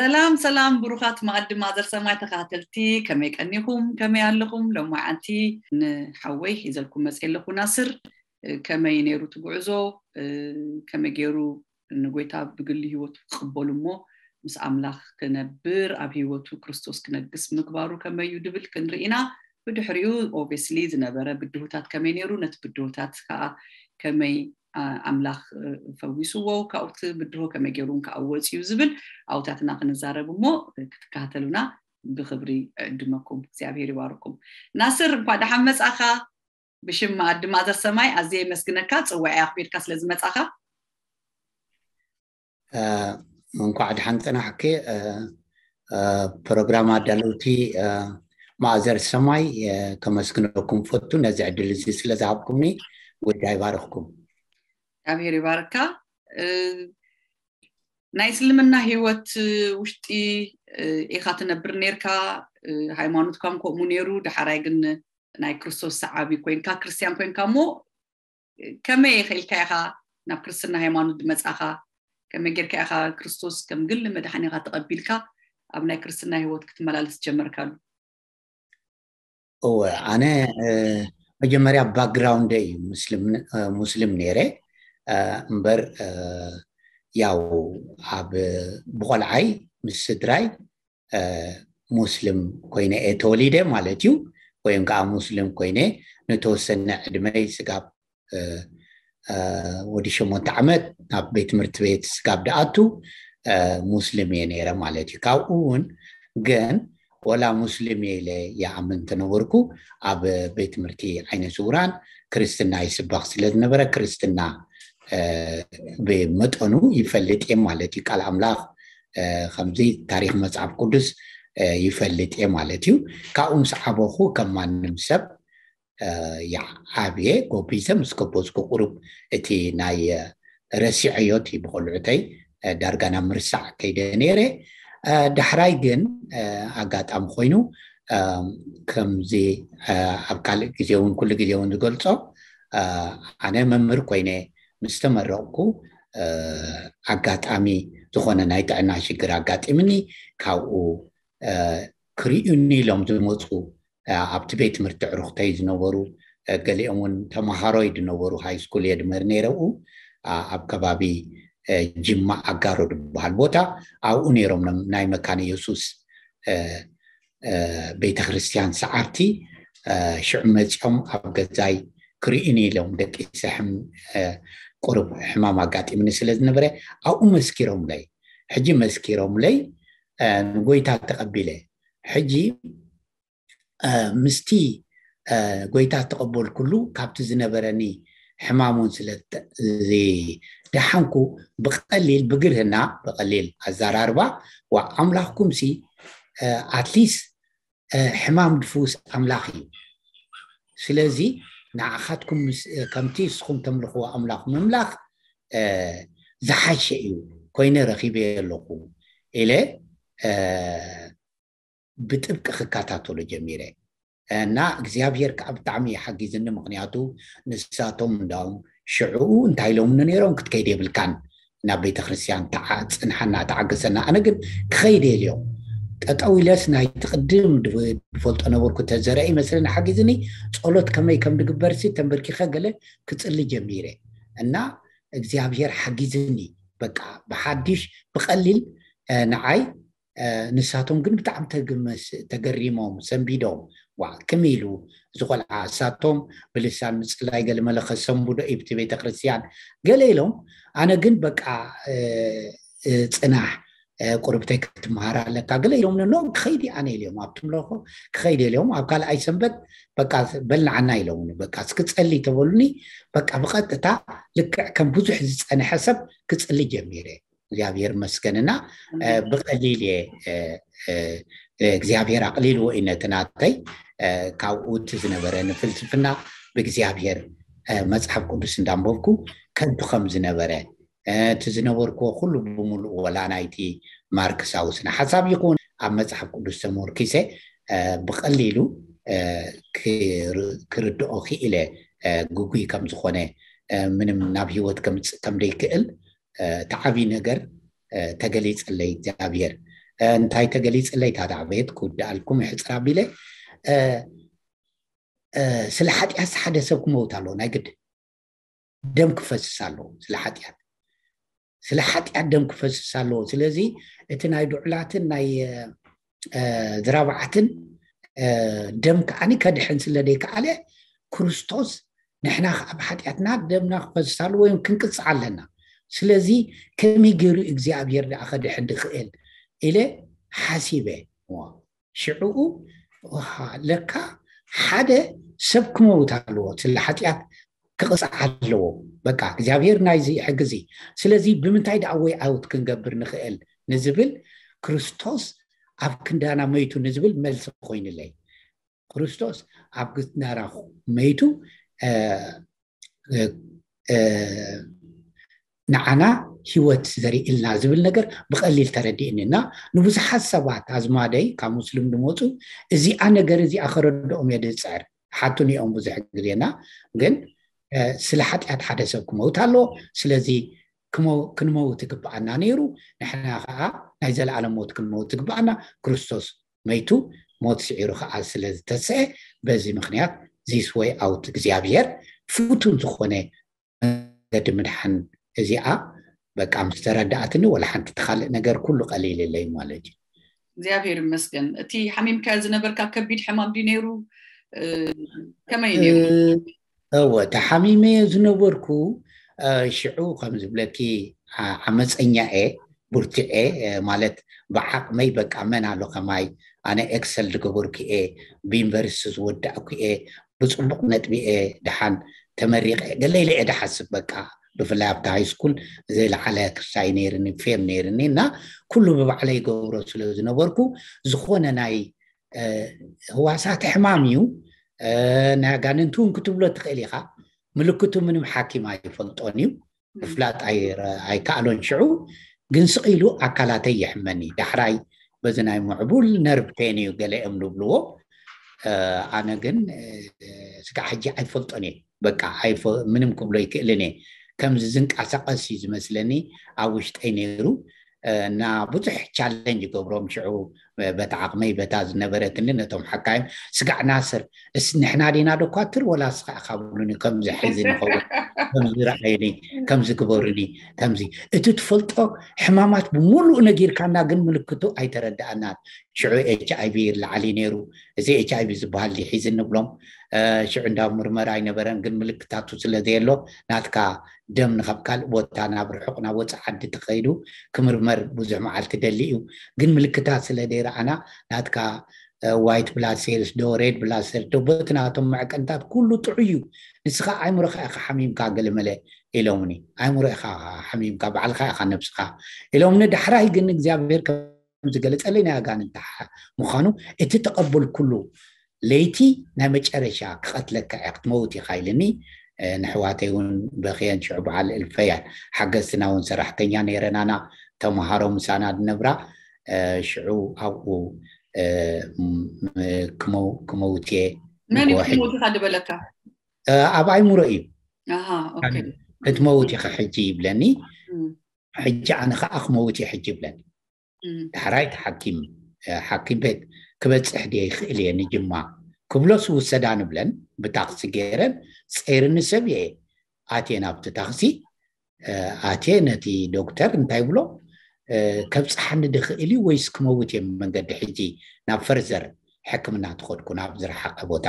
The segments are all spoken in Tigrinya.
ሰላም ሰላም፣ ብሩኻት መኣዲ ማእዘር ሰማይ ተኸታተልቲ፣ ከመይ ቀኒኹም? ከመይ ኣለኹም? ሎማዓንቲ ንሓወይ ሒዘልኩም መፅእ ኣለኹ። ናስር፣ ከመይ ነይሩ እቲ ጉዕዞ? ከመይ ገይሩ ንጎይታ ብግሊ ህይወቱ ክቕበሉ እሞ ምስ ኣምላኽ ክነብር፣ ኣብ ህይወቱ ክርስቶስ ክነግስ ምግባሩ ከመይ እዩ ድብል ክንርኢ ኢና። ብድሕሪኡ ኦብቪየስሊ ዝነበረ ብድሆታት ከመይ ነይሩ፣ ነቲ ብድሆታት ከዓ ከመይ ኣምላኽ ፈዊስዎ፣ ካብኡ እቲ ብድሆ ከመይ ገይሩ እውን ከዓ ወፂኡ ዝብል ኣብታትና ክንዛረብ እሞ ክትከታተሉና ብክብሪ እዕድመኩም። እግዚኣብሔር ይባርኩም። ናስር፣ እንኳዕ ደሓን መጻኻ። ብሽም መኣዲ ማእዘር ሰማይ ኣዝየ የመስግነካ፣ ጽዋዒ ኣኽቢርካ ስለ ዝመጻኻ። እንኳዕ ደሓን ጸናሕኪ። ፕሮግራም ኣዳለውቲ ማእዘር ሰማይ፣ ከመስግነኩም ፈቱ፣ ነዚ ዕድል እዚ ስለ ዝሃብኩምኒ። ጎይታ ይባርኽኩም። እግዚኣብሔር ይባርካ። ናይ እስልምና ህይወት ውሽጢ ኢኻ ትነብር ነርካ፣ ሃይማኖትካም ከምኡ ነይሩ። ደሓራይ ግን ናይ ክርስቶስ ሰዓቢ ኮይንካ፣ ክርስትያን ኮይንካ እሞ ከመይ ኢልካ ኢኻ ናብ ክርስትና ሃይማኖት ዝመጻኻ? ከመይ ጌርካ ኢኻ ክርስቶስ ከም ግሊ መድሓኒኻ ተቐቢልካ ኣብ ናይ ክርስትና ህይወት ክትመላለስ ጀመርካሉ? እወ፣ ኣነ መጀመርያ ባክግራውንደ እዩ ሙስሊም ነይረ። እምበር ያው ኣብ ብቆልዓይ ምስ ስድራይ ሙስሊም ኮይነ እየ ተወሊደ ማለት እዩ። ወይም ከዓ ሙስሊም ኮይነ ንተወሰነ ዕድመይ ስጋብ ወዲ ሸሞንተ ዓመት ናብ ቤት ትምህርቲ ቤት ስጋብ ደኣቱ ሙስሊም እየ ነይረ ማለት እዩ። ካብኡ እውን ግን ወላ ሙስሊም እየ ኢለ ይኣምን ተነበርኩ፣ ኣብ ቤት ትምህርቲ ዓይነ ስውራን ክርስትና ይስበኽ ስለ ዝነበረ ክርስትና ብመጠኑ ይፈልጥ እየ ማለት እዩ። ቃል ኣምላኽ ከምዚ ታሪክ መጽሓፍ ቅዱስ ይፈልጥ እየ ማለት እዩ። ካብኡ ምስ ዓበኹ ከም ማንም ሰብ ይዓብየ፣ ጎቢዘ ምስ ገበዝኩ ቁሩብ እቲ ናይ ረሲዐዮ እቲ ብቆልዑተይ ዳርጋ ናብ ምርሳዕ ከይደ ነይረ። ዳሕራይ ግን ኣጋጣሚ ኮይኑ ከምዚ ኣብ ካልእ ግዜ እውን ኩሉ ግዜ እውን ዝገልጾ ኣነ መምህር ኮይነ ምስ ተመረቕኩ ኣጋጣሚ ዝኾነ ናይ ጥዕና ሽግር ኣጋጢምኒ። ካብኡ ክርእዩኒ ኢሎም ዝመፁ ኣብቲ ቤት ትምህርቲ ዕሩኽተይ ዝነበሩ ገሊኦም እውን ተምሃሮይ ዝነበሩ ሃይ ስኩል እየ ድምህር ነይረ ኣብኡ ኣብ ከባቢ ጅማ ኣጋሮ ዝበሃል ቦታ ኣብኡ ነይሮም ናይ መካነ የሱስ ቤተክርስትያን ሰዓርቲ ሽዑ መፂኦም ኣብ ገዛይ ክርእዩኒ ኢሎም ደቂሰ ቁሩብ ሕማም ኣጋጢምኒ ስለ ዝነበረ ኣብኡ መስኪሮምለይ። ሕጂ መስኪሮምለይ ንጎይታ ተቐቢለ። ሕጂ ምስቲ ጎይታ ተቐበልኩሉ ካብቲ ዝነበረኒ ሕማሙን ስለ ደሓንኩ ብቐሊል ብግርህና ብቐሊል ኣዘራርባ ዋ ኣምላኽኩም ሲ ኣትሊስት ሕማም ድፍውስ ኣምላኽ እዩ። ስለዚ ንዓኻትኩም ከምቲ ንስኹም ተምልኽዎ ኣምላኽ ምምላኽ ዝሓሸ እዩ ኮይነ ረኺበ ኣለኹ ኢለ ብጥብቂ ክከታተሎ ጀሚረ እና እግዚኣብሔር ከዓ ብጣዕሚ ይሓጊዝኒ። ምክንያቱ ንሳቶም እንዳውም ሽዕኡ እንታይ ኢሎምኒ ነይሮም ክትከይድ የብልካን ናብ ቤተክርስትያን ጽንሓና ተዓገሰና። ኣነ ግን ክኸይድ የልዮም ጠጠው ኢለስ ናይቲ ቅድም ዝፈልጦ ነበርኩ ተዘረአ ይመስለኒ ሓጊዝኒ። ጸሎት ከመይ ከም ዝግበርሲ ተንበርኪኸ ገለ ክጽሊ ጀሚረ እና እግዚኣብሔር ሓጊዝኒ። በቃ ብሓድሽ ብቐሊል ንዓይ ንሳቶም ግን ብጣዕሚ ተገሪሞም ሰንቢዶም ዋ ክም ኢሉ እዚ ቆልዓ እሳቶም ብልሳን ምፅላይ ገለመለ ከሰንብዶ ኢብቲ ቤተክርስትያን ገለ ኢሎም ኣነ ግን በቃ ፅናሕ ቁርብተይ ክትምሃር ኣለካ ገለ ኢሎም ኖ ክኸይድ ኣነ ኢልዮም ኣብቲ ምለኮ ክኸይድ ኢልዮም ኣብ ካልኣይ ሰንበት በቃ በልናዓና ኢሎምኒ በቃ እስክፀሊ ተበሉኒ በቃ ብቐጥታ ልክዕ ከም ብዙሕ ዝፀንሐ ሰብ ክፅሊ ጀሚረ እግዚኣብሔር መስገንና ብቐሊል እየ እግዚኣብሔር ኣቕሊልዎ እዩ ነቲ ናተይ ካብኡ እቲ ዝነበረ ንፍልስፍና ብእግዚኣብሔር መፅሓፍ ቅዱስ እንዳንበብኩ ከንቱ ከም ዝነበረ እቲ ዝነበርክዎ ኩሉ ብምሉእ ወላ ናይቲ ማርክሳዊ ስነ ሓሳብ ይኹን ኣብ መፅሓፍ ቅዱስ ተመርኪሰ ብቐሊሉ ክርድኦ ክኢለ ግጉይ ከም ዝኾነ ምንም ናብ ህይወት ከምፅእ ከም ደይክእል እቲ ዓብዪ ነገር ተገሊፀለይ እግዚኣብሔር እንታይ ተገሊፅለይ? ታታ ቤት ክውድኣልኩም ይሕፅር ኣቢለ። ስለ ሓጢኣት ሓደ ሰብ ክመውት ኣለዎ፣ ናይ ግድ ደም ክፈስስ ኣለዎ። ስለ ሓጢኣት ስለ ሓጢኣት ደም ክፈስስ ኣለዎ። ስለዚ እቲ ናይ ድዑላትን ናይ ዝራብዓትን ደም ከዓኒ ከድሕን ስለ ደይከኣለ፣ ክርስቶስ ንሕና ከዓ ብሓጢኣትና ደምና ክፈስስ ኣለዎ ወይም ክንቅፅዕ ኣለና። ስለዚ ከመይ ገይሩ እግዚኣብሔር ደኣ ከድሕን ድኽእል ኢለ ሓሲበ። ሽዕኡ ለካ ሓደ ሰብ ክመውት ኣለዎ፣ ስለ ሓጢኣት ክቕፃዕ ኣለዎ። በቃ እግዚኣብሔር ናይዚ ሕግዚ። ስለዚ ብምንታይ ደኣ ወይ ኣውት ክንገብር ንኽእል ንዝብል፣ ክርስቶስ ኣብ ክንዳና መይቱ ንዝብል መልሲ ኮይኑለይ። ክርስቶስ ኣብ ግትናራ መይቱ ንዓና ህይወት ዘርእልና ዝብል ነገር ብቐሊል ተረዲእኒ እና ንብዙሓት ሰባት ኣዝማደይ ካብ ሙስሊም ዝመፁ እዚኣ ነገር እዚኣ ከረድኦም እየ ዝፅዕር። ሓቱን እዮም ብዙሕ ግዜና ግን ስለ ሓጢኣት ሓደ ሰብ ክመውት ኣሎ። ስለዚ ክንመውት ይግብኣና ነይሩ። ንሕና ከዓ ናይ ዘለኣለም ሞት ክንመውት ይግብኣና። ክርስቶስ መይቱ ሞት ስዒሩ ከዓ ስለ ዝተስአ በዚ ምክንያት ዚስ ወይ ኣውት እግዚኣብሔር ፍቱን ዝኾነ መገዲ ምድሓን እዚኣ በቃ ምስ ተረዳኣትኒ ወላ ሓንቲ ትካልእ ነገር ኩሉ ቀሊልለይ ማለት እዩ። እግዚኣብሔር ይመስገን። እቲ ሓሚምካዮ ዝነበርካ ከቢድ ሕማም ድዩ ነይሩ? ከመይ ነይሩ? እወ ተሓሚመዮ ዝነበርኩ ሽዑ ከም ዝብለኪ ዓመፀኛ እየ፣ ብርቱዕ እየ ማለት ብዓቕመይ በቃ መን ኣሎ ከማይ፣ ኣነ ኤክሰል ዝገበርኩ እየ፣ ብዩኒቨርሲቲ ዝወዳእኩ እየ፣ ብፅቡቕ ነጥቢ እየ ደሓን ተመሪቐ ገለ ኢለ እየ ድሓስብ። በቃ ብፍላይ ኣብቲ ሃይ ስኩል ዘይለዓለ ክሳይ ነይርኒ፣ ፌም ነይርኒ እና ኩሉ ብባዕለይ ይገብሮ ስለ ዝነበርኩ ዝኾነ ናይ ህዋሳት ሕማም እዩ። ናይ ኣጋንንቲ እውን ክትብሎ ትኽእል ኢኻ። ምልክቱ ምንም ሓኪም ኣይፈልጦን እዩ፣ ምፍላጥ ኣይከኣሎን። ሽዑ ግን ስቕ ኢሉ ኣካላተይ ይሕመኒ። ዳሕራይ በዚ ናይ ምዕቡል ነርቭ ፔን እዩ ገለ እዮም ዝብልዎ። ኣነ ግን ስጋዕ ሕጂ ኣይፈልጦን እየ። በቃ ምንም ክብሎ ይክእልን እየ። ከምዚ ዝንቀሳቐስ እዩ ዝመስለኒ ኣብ ውሽጠይ ነይሩ። እና ብዙሕ ቻለንጅ ይገብሮም ሽዑ በታ ዓቕመይ በታ ዝነበረትኒ ነቶም ሓካይም ስጋዕ ናስር እስ ንሕና ዲና ዶኳትር ወላ ስኻ ኢኻ ብሉኒ። ከምዚ ሕዚ ንኸውን ከምዚ ረኣየኒ ከምዚ ግበሩኒ ከምዚ እቲ ትፈልጦ ሕማማት ብምሉእ ነጊርካና ግን ምልክቱ ኣይተረዳኣናን። ሽዑ ኤች ኣይቪ ላዓሊ ነይሩ። እዚ ኤች ኣይቪ ዝበሃል ሒዚ ንብሎም ሽዑ እንዳ ምርመራ ኣይነበረን ግን ምልክታቱ ስለ ዘየሎ ናትካ ደም ንካብ ካልእ ቦታ ናብ ርሑቕ ናብ ወፃእ ዓዲ ተኸይዱ ክምርመር ብዙሕ መዓልቲ ደሊ እዩ። ግን ምልክታት ስለ ደይረኣና ናትካ ዋይት ብላድ ሴልስ ዶ ሬድ ብላድ ሴልስ ዶ በቲ ናቶም መዕቀንታት ኩሉ ጥዑይ እዩ። ንስኻ ኣይምሮኻ ኢኻ ሓሚምካ ገለመለ ኢሎምኒ። ኣይምሮ ኢኻ ሓሚምካ ባዕልኻ ኢኻ ነብስኻ ኢሎምኒ። ዳሕራይ ግን እግዚኣብሔር ዝገለፀለይ ናይ ኣጋንንታ ምዃኑ እቲ ተቐበልኩሉ ለይቲ ናይ መጨረሻ ክቐትለካ እያ ክትመውት ኢኻ ኢልኒ። ንሕዋተይ እውን በኽየን ሽዑ በዓል እልፈያን ሓገዝትና እውን ሰራሕተኛ ነይረናና ተምሃሮ ምሳና ዝነብራ ሽዑ ኣብኡ ክመውት እየ። መን እዩ ክትመውት ኢኻ ዝበለካ? ኣብ ኣይምሮ እዩ። ክትመውት ኢኻ ሕጂ ይብለኒ። ሕጂ ኣነ ከዓ ክመውት እየ ሕጂ ይብለኒ። ዳሕራይ እቲ ሓኪም ሓኪም ቤት ክበፅሕ ድየ ይኽእል እየ ንጅማ ክብሎስ ውሰዳ ንብለን ብታክሲ ገይረን ፀይርኒ ሰብ እየ። ኣትየ ናብቲ ታክሲ ኣትየ ነቲ ዶክተር እንታይ ብሎ ከብፅሓኒ ድኽእል እዩ ወይስ ክመውት እየ መንገዲ ሕጂ ናብ ፈርዘር ሕክምና ተኸድኩ ናብ ዝረሓቐ ቦታ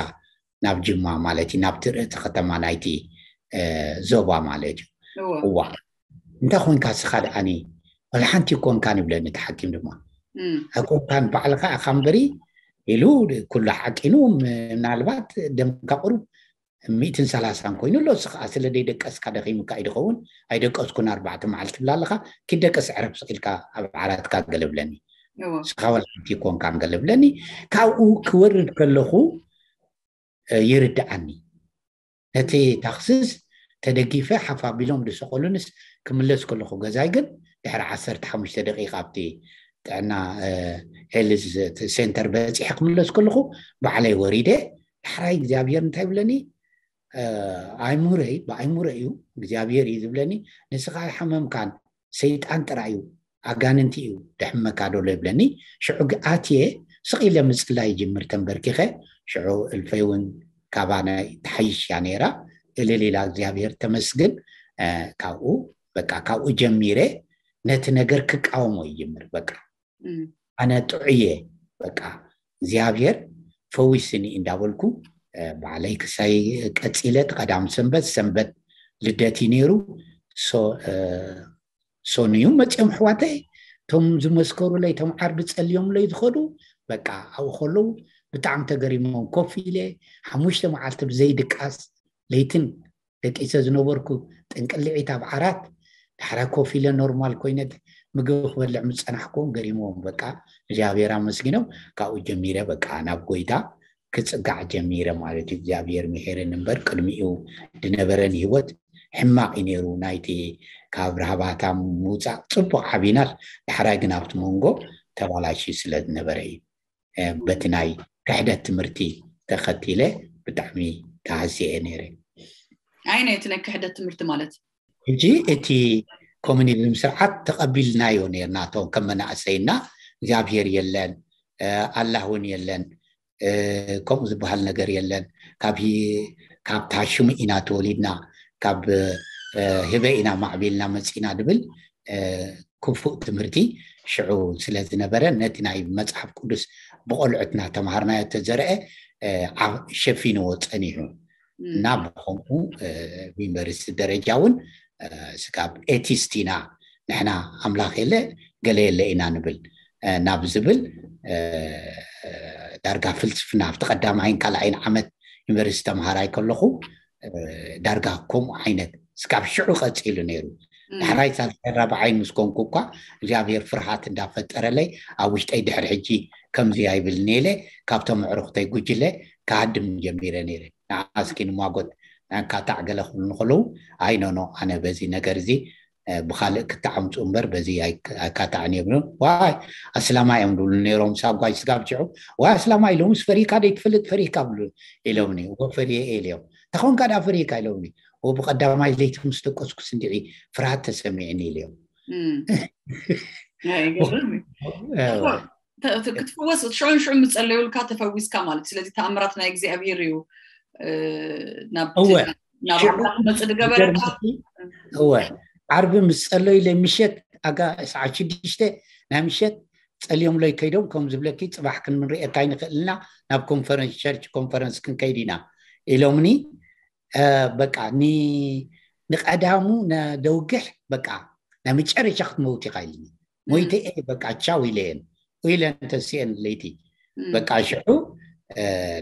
ናብ ጅማ ማለት እዩ ናብቲ ርእቲ ከተማ ናይቲ ዞባ ማለት እዩ። እዋ እንታይ ኮንካ ስኻ ደኣኒ ወላ ሓንቲ ይኮንካን ይብለኒ እቲ ሓኪም ድማ ኣይኮንካን ባዕልካ ኢኻ እምበሪ ኢሉ ኩሉ ሓቂኑ ምናልባት ደምካ ቁሩብ ሚእትን ሰላሳን ኮይኑ ኣሎ። እስኻ ስለ ደይደቀስካ ደኺምካ እዩ ድኸውን ኣይደቀስኩን ኣርባዕተ መዓልቲ ትብላ ኣለኻ። ኪደቀስ ዕረፍ ስቕ ኢልካ ኣብ ዓራትካ ገለብለኒ እስኻ ወላ ሓንቲ ይኮንካን ገለብለኒ። ካብኡ ክወርድ ከለኹ ይርድኣኒ ነቲ ታክስስ ተደጊፈ ሓፍ ኣቢሎም ዝሰቐሉንስ ክምለስ ከለኹ ገዛይ ግን ድሕሪ ዓሰርተ ሓሙሽተ ደቂቃ ኣብቲ ጥዕና ሄልዝ ሴንተር በፂሐ ክምለስ ከለኹ ባዕለይ ወሪደ ዳሕራይ እግዚኣብሔር እንታይ ይብለኒ ኣይሙረይ ብኣይሙረ እዩ እግዚኣብሔር እዩ ዝብለኒ ንስኻ ኣይሓመምካን ሰይጣን ጥራይ እዩ ኣጋንንቲ እዩ ደሕመካ ዶ ይብለኒ። ሽዑ ኣትየ ስቕ ኢለ ምፅላይ ይጅምር ተንበርኪኸ። ሽዑ እልፈይ እውን ካባና ትሓይሽ እያ ነይራ። እልል ኢላ እግዚኣብሔር ተመስግን። ካብኡ በቃ ካብኡ ጀሚረ ነቲ ነገር ክቃወሞ ይጅምር። በቃ ኣነ ጥዑየ በቃ እግዚኣብሔር ፈዊስኒ እንዳበልኩ ባዕለይ ክሳይ ቀፂለ። ቀዳም ሰንበት ሰንበት ልደት እዩ ነይሩ። ሶንዩ መፅኦም ኣሕዋተይ እቶም ዝመስከሩለይ እቶም ዓርቢ ፀልዮምለይ ዝኸዱ በቃ ኣብኡ ከለዉ ብጣዕሚ ተገሪሞም ኮፍ ኢለ ሓሙሽተ መዓልቲ ብዘይድቃስ ለይትን ደቂሰ ዝነበርኩ ጥንቅልዒት ኣብ ዓራት ዳሕራይ ኮፍ ኢለ ኖርማል ኮይነ ምግቢ ክበልዕ ምፀናሕኩም ገሪሞም በቃ እግዚኣብሔር ኣመስጊኖም። ካብኡ ጀሚረ በቃ ናብ ጎይታ ክፅጋዕ ጀሚረ ማለት እዩ። እግዚኣብሔር ምሄረን እምበር ቅድሚኡ ዝነበረን ህይወት ሕማቕ እዩ ነይሩ። ናይቲ ካብ ራህባታ ምውፃእ ፅቡቕ ዓቢናል ዳሕራይ ግን ኣብቲ መንጎ ተባላሽ ስለ ዝነበረ እዩ። በቲ ናይ ክሕደት ትምህርቲ ተኸቲለ ብጣዕሚ ተሃስየ ነይረ። ኣይ ናይ እቲ ናይ ክሕደት ትምህርቲ ማለት ሕጂ እቲ ኮሚኒዝም ስርዓት ተቐቢልናዮ ነርና እቶም ከም መናእሰይና እግዚኣብሔር የለን ኣላህ እውን የለን ከምኡ ዝበሃል ነገር የለን ካብ ካብ ታሽሙ ኢና ተወሊድና ካብ ህበ ኢና ማዕቢልና መፂና ድብል ክፉእ ትምህርቲ ሽዑ ስለ ዝነበረ ነቲ ናይ መፅሓፍ ቅዱስ ብቆልዑትና ተምሃርናዮ ተዘርአ ሸፊንዎ ፀኒሑ እና ብከምኡ ዩኒቨርሲቲ ደረጃ እውን ስጋብ ኤቲስት ኢና ንሕና ኣምላኽ የለ ገለ የለ ኢና ንብል ናብ ዝብል ዳርጋ ፍልስፍና ኣብቲ ቀዳማይን ካልኣይን ዓመት ዩኒቨርሲቲ ተምሃራይ ከለኹ ዳርጋ ከምኡ ዓይነት ስካብ ሽዑ ቀፂሉ ነይሩ። ዳሕራይ ሳልሳይ ራብዓይን ምስ ኮንኩ እኳ እግዚኣብሔር ፍርሃት እንዳፈጠረለይ ኣብ ውሽጠይ ድሕሪ ሕጂ ከምዚ ኣይብል ነይለ ካብቶም ኣዕሩኽተይ ጉጅለ ክሃድም ጀሚረ ነይረ። ንዓስኪ ንማጎት ናይ ኣካታዕ ገለ ክብሉ ከለዉ ኣይኖኖ ኣነ በዚ ነገር እዚ ብካልእ ክተዓምፁ እምበር በዚ ኣይካታዕን እዮም ዋይ ኣስላማ እዮም ዝብሉ ነይሮም ሳጓይ ስጋብ ሽዑ ዋይ ኣስላማ ኢሎምስ ፈሪካ ደይትፈልጥ ፈሪካ ብሉ ኢሎምኒ እዎ ፈሪየ ኢልዮም ተኾንካ ዳ ፈሪካ ኢሎምኒ እዎ ብቀዳማይ ለይቲ ምስ ደቀስኩስ እንዲዒ ፍርሃት ተሰሚዕኒ ኢልዮም ክትፍወስ ሽዑን ሽዑ ምፀለዩልካ ተፈዊስካ ማለት ስለዚ ተኣምራት ናይ እግዚኣብሄር እዩ ናብ ኣምላኽ መፅእ ዝገበረካ እወ ዓርቢ ምስ ፀለዩለይ ምሸት ኣጋ ሰዓት ሽዱሽተ ናይ ምሸት ፀልዮምለይ ከይዶም ከም ዝብለኪ ፅባሕ ክንምንርእየካ ይንኽእል ኢና ናብ ኮንፈረንስ ቸርች ኮንፈረንስ ክንከይድ ኢና ኢሎምኒ በቃ ንቀዳሙ ነደውግሕ በቃ ናይ መጨረሻ ክትመውት ኢኻ ኢልኒ ሞይተ እየ በቃ ቻው ኢለየን ኢለን ተስአን ለይቲ በቃ ሽዑ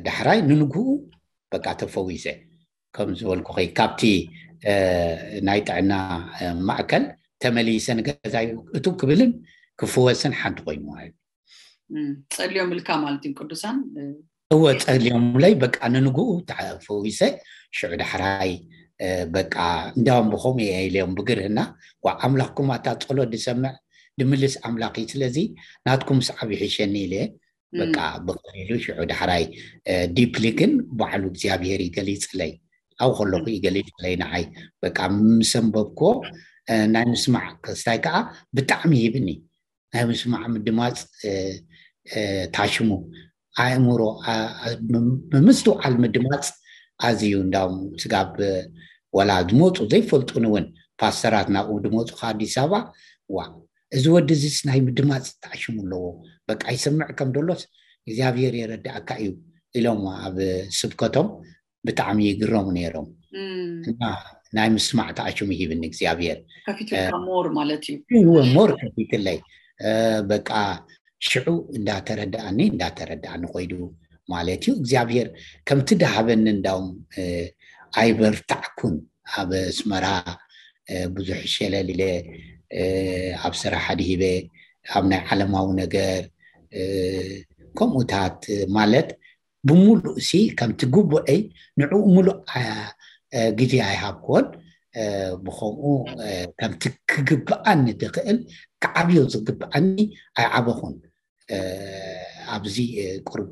ዳሕራይ ንንግኡ በቃ ተፈዊሰ ከም ዝበልኩ ኸይ ካብቲ ናይ ጥዕና ማእከል ተመሊሰ ንገዛይ እቱ ክብልን ክፍወስን ሓንቲ ኮይኑ ማለት ጸልዮም ኢልካ ማለት እዩ ቅዱሳን እወ ጸልዮምለይ በቃ ንንግኡ ተፈዊሰ ሽዑ ዳሕራይ በቃ እንዳውም ብኸምኡ እየ ኢለዮም ብግርህና ዋ ኣምላኽኩም ኣታ ጸሎት ዝሰምዕ ድምልስ ኣምላኽ እዩ ስለዚ ናትኩም ሰዓብ ይሕሸኒ ኢለ በቃ ብቐሊሉ ሽዑ ዳሕራይ ዲፕሊ ግን ባዕሉ እግዚኣብሔር ይገሊፅለይ ኣብ ከለኹ ይገሊፅለይ ንዓይ በቃ ምስ ኣንበብክዎ ናይ ምስማዕ ክስታይ ከዓ ብጣዕሚ ይህብኒ ናይ ምስማዕ ምድማፅ ታሽሙ ኣእምሮ ብምስትውዓል ምድማፅ ኣዝዩ እንዳውም ስጋብ ወላ ዝመፁ ዘይፈልጡን እውን ፓስተራት ናብኡ ዝመፁ ከ ኣዲስ ኣበባ ዋ እዚ ወዲ እዚስ ናይ ምድማፅ ተኣሽሙ ኣለዎ በቃ ይሰምዕ ከም ደሎስ እግዚኣብሔር የረድኣካ እዩ ኢሎም ኣብ ስብከቶም ብጣዕሚ ይግረሙ ነይሮም እና ናይ ምስማዕ ተኣሽሙ ይህብኒ እግዚኣብሔር ሞር ማለት እዩ ሞር ከፊትለይ በቃ ሽዑ እንዳተረዳኣኒ እንዳተረዳኣኒ ኮይዱ ማለት እዩ እግዚኣብሔር ከምቲ ድሃበኒ እንዳውም ኣይበርታዕኩን ኣብ ኣስመራ ብዙሕ ሸለል ኢለ ኣብ ስራሕ ኣድሂበ ኣብ ናይ ዓለማዊ ነገር ከምኡታት ማለት ብምሉእ ሲ ከምቲ ግቡአይ ንዕኡ ምሉእ ግዜ ኣይሃብክዎን ብከምኡ ከምቲ ክግብኣኒ ዝኽእል ክዓብዮ ዝግብኣኒ ኣይዓበኹን ኣብዚ ቁርብ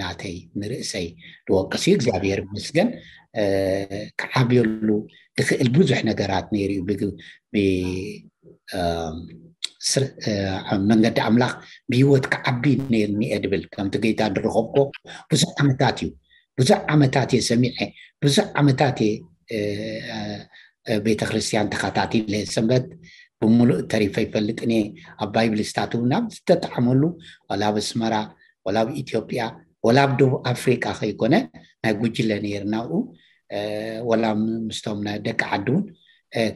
ናተይ ንርእሰይ ዝወቅስ እዩ እግዚኣብሔር ምስገን ክዓብየሉ እኽእል ብዙሕ ነገራት ነይሩ እዩ ኣብ መንገዲ ኣምላኽ ብህይወት ክዓቢ ነርኒ እየ ድብል። ከምቲ ጌታ ድረኸብኮ ብዙሕ ዓመታት እዩ፣ ብዙሕ ዓመታት እየ ሰሚዐ፣ ብዙሕ ዓመታት እየ ቤተክርስትያን ተኸታቲለ። ሰንበት ብምሉእ ተሪፈ ይፈልጥን እየ። ኣብ ባይብል ስታት እውን ናብ ዝተጠዓመሉ፣ ዋላ ኣብ ኣስመራ፣ ዋላ ኣብ ኢትዮጵያ፣ ዋላ ኣብ ደቡብ ኣፍሪቃ ከይኮነ ናይ ጉጅለ ነይርና ኣብኡ፣ ወላ ምስቶም ናይ ደቂ ዓዲ እውን፣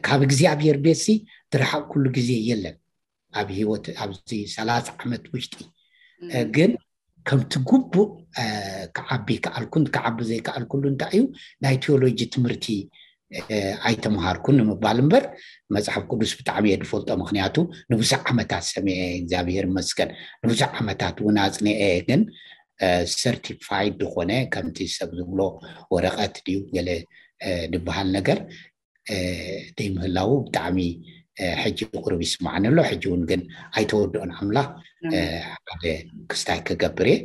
ካብ እግዚኣብሔር ቤትሲ ዝረሓቕኩሉ ግዜ የለን። ኣብ ህይወት ኣብዚ ሰላሳ ዓመት ውሽጢ ግን ከምቲ ግቡእ ክዓቢ ከኣልኩን ክዓቢ ዘይከኣልኩሉ እንታይ እዩ፣ ናይ ቴዎሎጂ ትምህርቲ ኣይተምሃርኩን ንምባል እምበር፣ መፅሓፍ ቅዱስ ብጣዕሚ እየ ዝፈልጦ። ምክንያቱ ንብዙሕ ዓመታት ሰሚዐ፣ እግዚኣብሔር ይመስገን፣ ንብዙሕ ዓመታት እውን ኣፅኒዐ። ግን ሰርቲፋይድ ዝኾነ ከምቲ ሰብ ዝብሎ ወረቐት ድዩ ገለ ዝበሃል ነገር ዘይምህላዉ ብጣዕሚ ሕጂ ቁሩብ ይስማዓኒ ኣሎ። ሕጂ እውን ግን ኣይተወድኦን ኣምላኽ። ሓደ ክስታይ ክገብር እየ።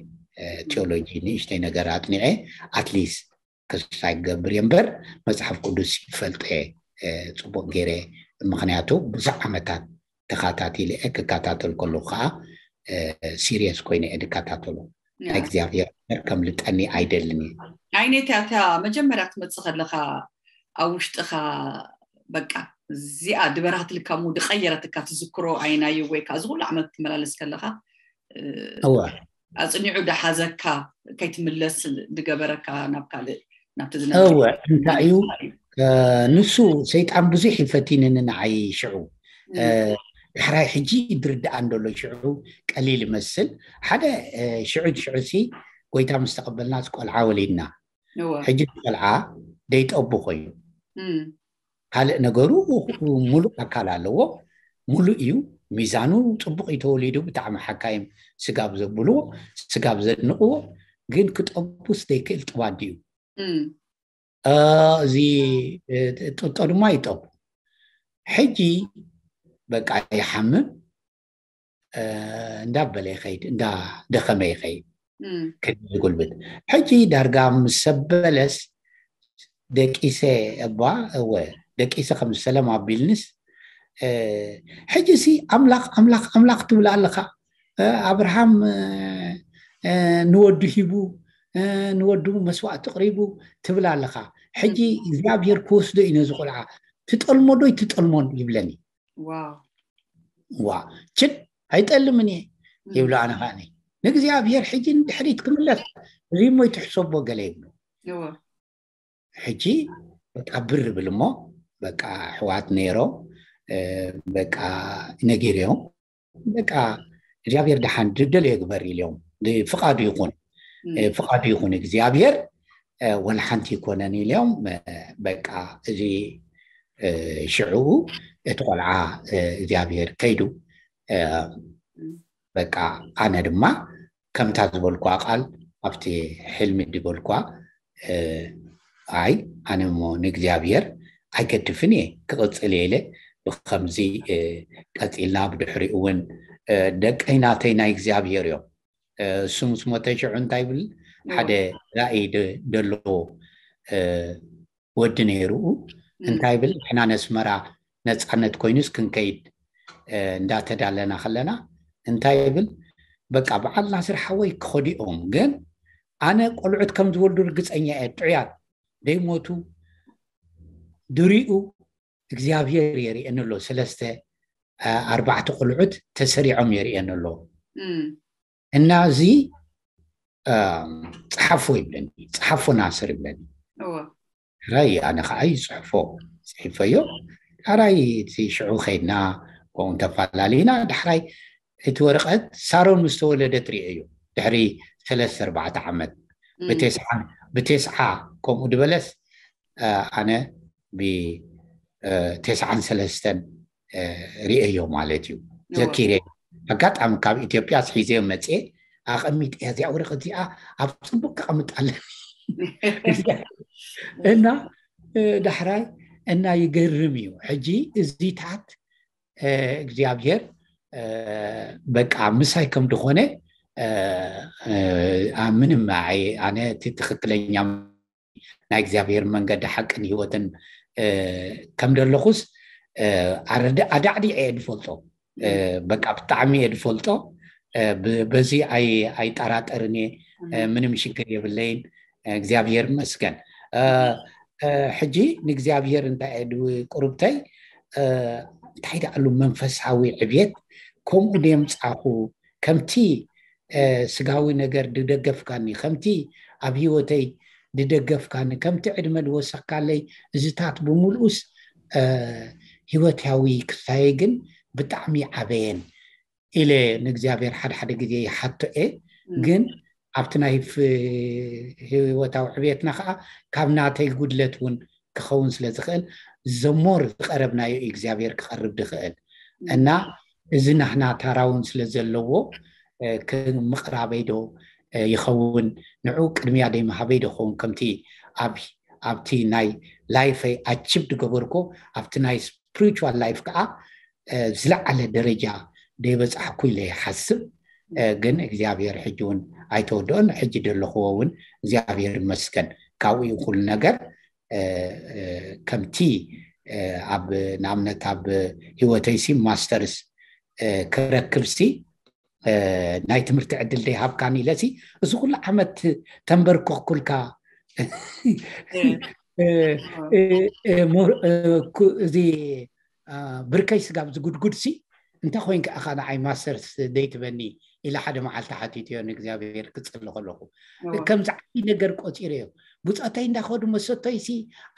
ቴዎሎጂ ንእሽተይ ነገር ኣጥኒዐ፣ ኣትሊስት ክስታይ ክገብር እየ እምበር፣ መፅሓፍ ቅዱስ ይፈልጦ እየ ፅቡቅ ገይረ። ምክንያቱ ብዙሕ ዓመታት ተኸታቲለ እየ። ክከታተል ከለኩ ከዓ ሲሪየስ ኮይነ እየ ዝከታተሎ። ናይ እግዚኣብሔር ነገር ከምልጠኒ ኣይደልን እየ። ኣይነታ እታ መጀመርያ ትመፅእ ከለካ ኣብ ውሽጥካ በቃ እዚኣ ድበራትልካ ሞ ድቀየረትካ ትዝክሮ ኣይናዩ ወይ ከዓ እዚ ኩሉ ዓመት ትመላለስ ከለካ እወ ኣፅኒዑ ዳሓዘካ ከይትምለስ ድገበረካ ናብ ካልእ ናብቲ እወ እንታይ እዩ ንሱ ሰይጣን ብዙሕ ይፈቲንኒ ንዓይ ሽዑ። ዳሕራይ ሕጂ ድርድኣ እንደሎ ሽዑ ቀሊል ይመስል። ሓደ ሽዑ ሽዑ ሲ ጎይታ ምስ ተቐበልናስ ቆልዓ ወሊድና። ሕጂ ቆልዓ ደይጠቡ ኮይኑ ካልእ ነገሩ ሙሉእ ኣካል ኣለዎ። ሙሉእ እዩ። ሚዛኑ ፅቡቅ እዩ ተወሊዱ። ብጣዕሚ ሓካይም ስጋብ ዘብልዎ ስጋብ ዘድንቅዎ ግን ክጠቡስ ዘይክእል ጥባድ እዩ። እዚ ጥጦ ድማ ይጠቡ። ሕጂ በቃ ይሓምም እንዳበለ ይኸይድ እንዳደኸመ ይኸይድ ክል ዝጉልብት። ሕጂ ዳርጋ ምስ ሰበለስ ደቂሰ እባ እወ ደቂሰ ከም ሰለም ኣቢልንስ ሕጂ ሲ ኣምላኽ ኣምላኽ ኣምላኽ ትብል ኣለኻ። ኣብርሃም ንወዱ ሂቡ ንወዱ መስዋዕቲ ቅሪቡ ትብል ኣለኻ። ሕጂ እግዚኣብሔር ክወስዶ እዩ ነዚ ቆልዓ። ትጠልሞ ዶ ትጠልሞን ይብለኒ። ዋ ችድ ኣይጠልምን እየ ይብሎ። ኣነ ከዓኒ ንእግዚኣብሔር ሕጂ ንድሕሪት ክምለስ እዚ እሞ ይትሕሰቦ ገለ ይብሎ። ሕጂ በቃ ብር ብል እሞ በቃ ኣሕዋት ነይሮም በቃ ነጊረዮም በቃ እግዚኣብሔር ደሓን ድደልዮ ግበር ኢልዮም። ፍቃዱ ይኹን ፍቃዱ ይኹን እግዚኣብሔር ወላ ሓንቲ ይኮነን ኢልዮም። በቃ እዚ ሽዑ እቲ ቆልዓ እግዚኣብሔር ከይዱ በቃ ኣነ ድማ ከምታ ዝበልኳ ቃል ኣብቲ ሕልሚ ድበልኳ ኣይ ኣነ ሞ ንእግዚኣብሔር ኣይገድፍን እየ ክቕፅል እየ ኢለ ብከምዚ ቀፂልና ብድሕሪኡ እውን ደቀይ ናተይ ናይ እግዚኣብሔር እዮም። እሱ ምስ ሞተ ሽዑ እንታይ ይብል ሓደ ራእይ ደለዎ ወዲ ነይርኡ እንታይ ይብል ንሕና ነስመራ ነፃነት ኮይኑስ ክንከይድ እንዳተዳለና ከለና እንታይ ይብል በቃ በዓል ናስር ሓወይ ክኸዲኦም ግን ኣነ ቆልዑት ከም ዝወልዱ ርግፀኛ እየ ጥዑያት ደይሞቱ ድሪኡ እግዚኣብሔር የርእየኒ ኣሎ። ሰለስተ ኣርባዕተ ቆልዑት ተሰሪዖም የርእየኒ ኣሎ። እና እዚ ፀሓፎ ይብለኒ፣ ፀሓፎ ናስር ይብለኒ። ሕራይ ኣነ ከዓ ይፅሕፎ ፅሒፈዮ። ዳሕራይ እቲ ሽዑ ከይድና ከምኡ እንተፈላለዩና ዳሕራይ እቲ ወረቐት ሳሮን ምስ ተወለደት ርእየዮ ድሕሪ ሰለስተ ኣርባዕተ ዓመት ብቴስዓ ከምኡ ድበለስ ኣነ ብቴስዓን ሰለስተን ርእየዮ ማለት እዩ። ዘኪረ ኣጋጣሚ ካብ ኢትዮጵያ ስሒዘዮ መፅኤ ኣቐሚጠ እዚኣ ወረቐት እዚኣ ኣብ ፅቡቅ ከቐምጣለን እና ዳሕራይ እና ይገርም እዩ። ሕጂ እዚታት እግዚኣብሔር በቃ ምሳይ ከም ድኾነ ምንም ኣነ እቲ ትክክለኛ ናይ እግዚኣብሔር መንገዲ ሓቅን ህይወትን ከም ደለኹስ ኣዳዕዲዐ እየ ዝፈልጦ። በቃ ብጣዕሚ እየ ዝፈልጦ። በዚ ኣይጠራጠርን እየ። ምንም ሽግር የብለይን። እግዚኣብሔር ይመስገን። ሕጂ ንእግዚኣብሔር እንታይ እየ ቁርብተይ እንታይ ደኣሉ መንፈሳዊ ዕብየት ከምኡ ደምፃኹ ከምቲ ስጋዊ ነገር ድደገፍካኒ ከምቲ ኣብ ህይወተይ ድደገፍካኒ ከምቲ ዕድመ ድወሰካለይ እዚታት ብምልኡስ ህይወታዊ ክስታየ ግን ብጣዕሚ ዓበየን ኢለ ንእግዚኣብሔር ሓደ ሓደ ግዜ ይሓቶ እየ። ግን ኣብቲ ናይ ህይወታዊ ዕብየትና ከዓ ካብ ናተይ ጉድለት እውን ክኸውን ስለ ዝኽእል ዘሞር ዝቀረብናዮ እግዚኣብሔር ክቐርብ ድኽእል እና እዚ ናህና ታራውን ስለ ዘለዎ ምቕራበይ ዶ ይኸውን ንዑ ቅድሚያ ደይ መሃበይ ዶ ኸውን ከምቲ ኣብቲ ናይ ላይፈይ ኣችብ ድገበርኮ ኣብቲ ናይ ስፕሪቹዋል ላይፍ ከዓ ዝለዓለ ደረጃ ደይበፃሕኩ ኢለ ይሓስብ። ግን እግዚኣብሔር ሕጂ እውን ኣይተወደኦን ሕጂ ደለኽዎ እውን እግዚኣብሔር ይመስገን ካብኡ ኩሉ ነገር ከምቲ ኣብ ንኣብነት ኣብ ህይወተይሲ ማስተርስ ክረክብሲ ናይ ትምህርቲ ዕድል ደይሃብካኒ ኢለሲ እዚ ኩሉ ዓመት ተንበርከኩልካ እዚ ብርከይ ስጋብ ዝጉድጉድሲ እንታይ ኮይንካ ኢኻ ንዓይ ማስተርስ ደይትበኒ ኢለ ሓደ መዓልቲ ሓቲትዮ ንእግዚኣብሔር ክፅሊ ከለኹ ከምዚ ዓብዪ ነገር ቆፂረዮ ብፆተይ እንዳኸዱ መሰቶይሲ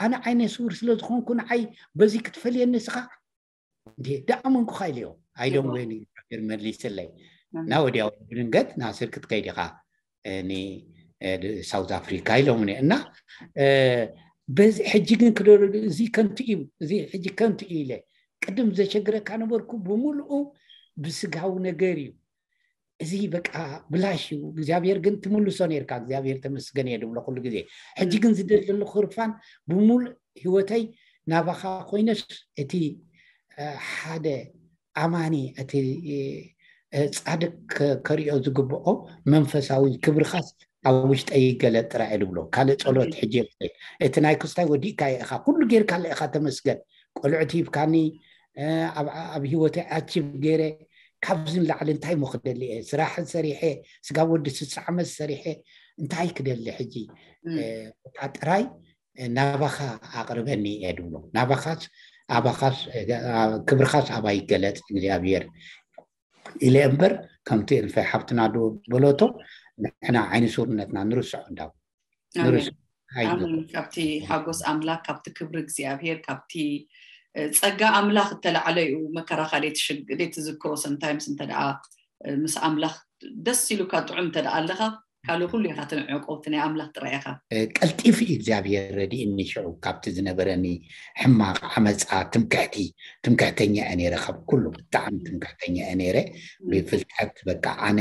ኣነ ዓይነ ስውር ስለ ዝኾንኩ ንዓይ በዚ ክትፈልየኒ ስኻ እንዴ ደኣመንኩኻ ኢለዮ ኣይደም ወይኒ እግዚኣብሔር መሊስለይ እና ወዲያው ብድንገት ናስር ክትከይድ ኢኻ ሳውት ኣፍሪካ ኢሎምኒ እና በዚ ሕጂ ግን ክደረዱ እዚ ከንቱ እዩ እዚ ሕጂ ከንቱ እዩ ኢለ ቅድም ዘሸግረካ ነበርኩ ብምልኡ ብስጋዊ ነገር እዩ እዚ በቃ ብላሽ እዩ እግዚኣብሔር ግን ትምልሶ ነርካ እግዚኣብሔር ተመስገን እየ ድብሎ ኩሉ ግዜ ሕጂ ግን ዝደል ዘለኹ ክርፋን ብምሉእ ህይወተይ ናባኻ ኮይነስ እቲ ሓደ ኣማኒ እቲ ፃድቅ ከሪኦ ዝግብኦ መንፈሳዊ ክብርኻስ ኣብ ውሽጠ ይገለጥ ጥራይ ድብሎ ካልእ ፀሎት ሕጂ እቲ ናይ ክስታይ ወዲእካ ኢኻ ኩሉ ጌርካ ኢኻ ተመስገን ቆልዑት ሂብካኒ ኣብ ህይወተይ ኣቺቭ ገይረ ካብዚ ንላዕሊ እንታይ ሞ ክደሊ እየ ስራሕ ሰሪሐ ስጋብ ወዲ ስሳ ዓመት ሰሪሐ እንታይ ክደሊ ሕጂ እታ ጥራይ ናባኻ ኣቕርበኒ እየ ድብሎ ናባኻስ ኣባኻስ ክብርኻስ ኣባ ይገለፅ እግዚኣብሔር ኢለ እምበር ከምቲ እንፈይ ሓብትና ዶ በለቶ ንሕና ዓይኒ ሱርነትና ንርስዖ እንዳው ንርስ ኣሜን። ካብቲ ሓጎስ ኣምላክ ካብቲ ክብሪ እግዚኣብሄር ካብቲ ፀጋ ኣምላክ እተላዕለ እዩ መከራካ ዘይትዝክሮ ሰምታይምስ እንተ ምስ ኣምላክ ደስ ኢሉካ ጥዑም እንተ ኣለካ ካልእ ኩሉ ኢካ ትንዕቆ እቲ ናይ ኣምላክ ጥራይ ኢካ ቀልጢፉ እዩ እግዚኣብሔር ረድእኒ ሽዑ ካብቲ ዝነበረኒ ሕማቅ ዓመፃ ትምክሕቲ ትምክሕተኛ እየ ነይረ ካብ ኩሉ ብጣዕሚ ትምክሕተኛ እየ ነይረ ብፍልጠት በቃ ኣነ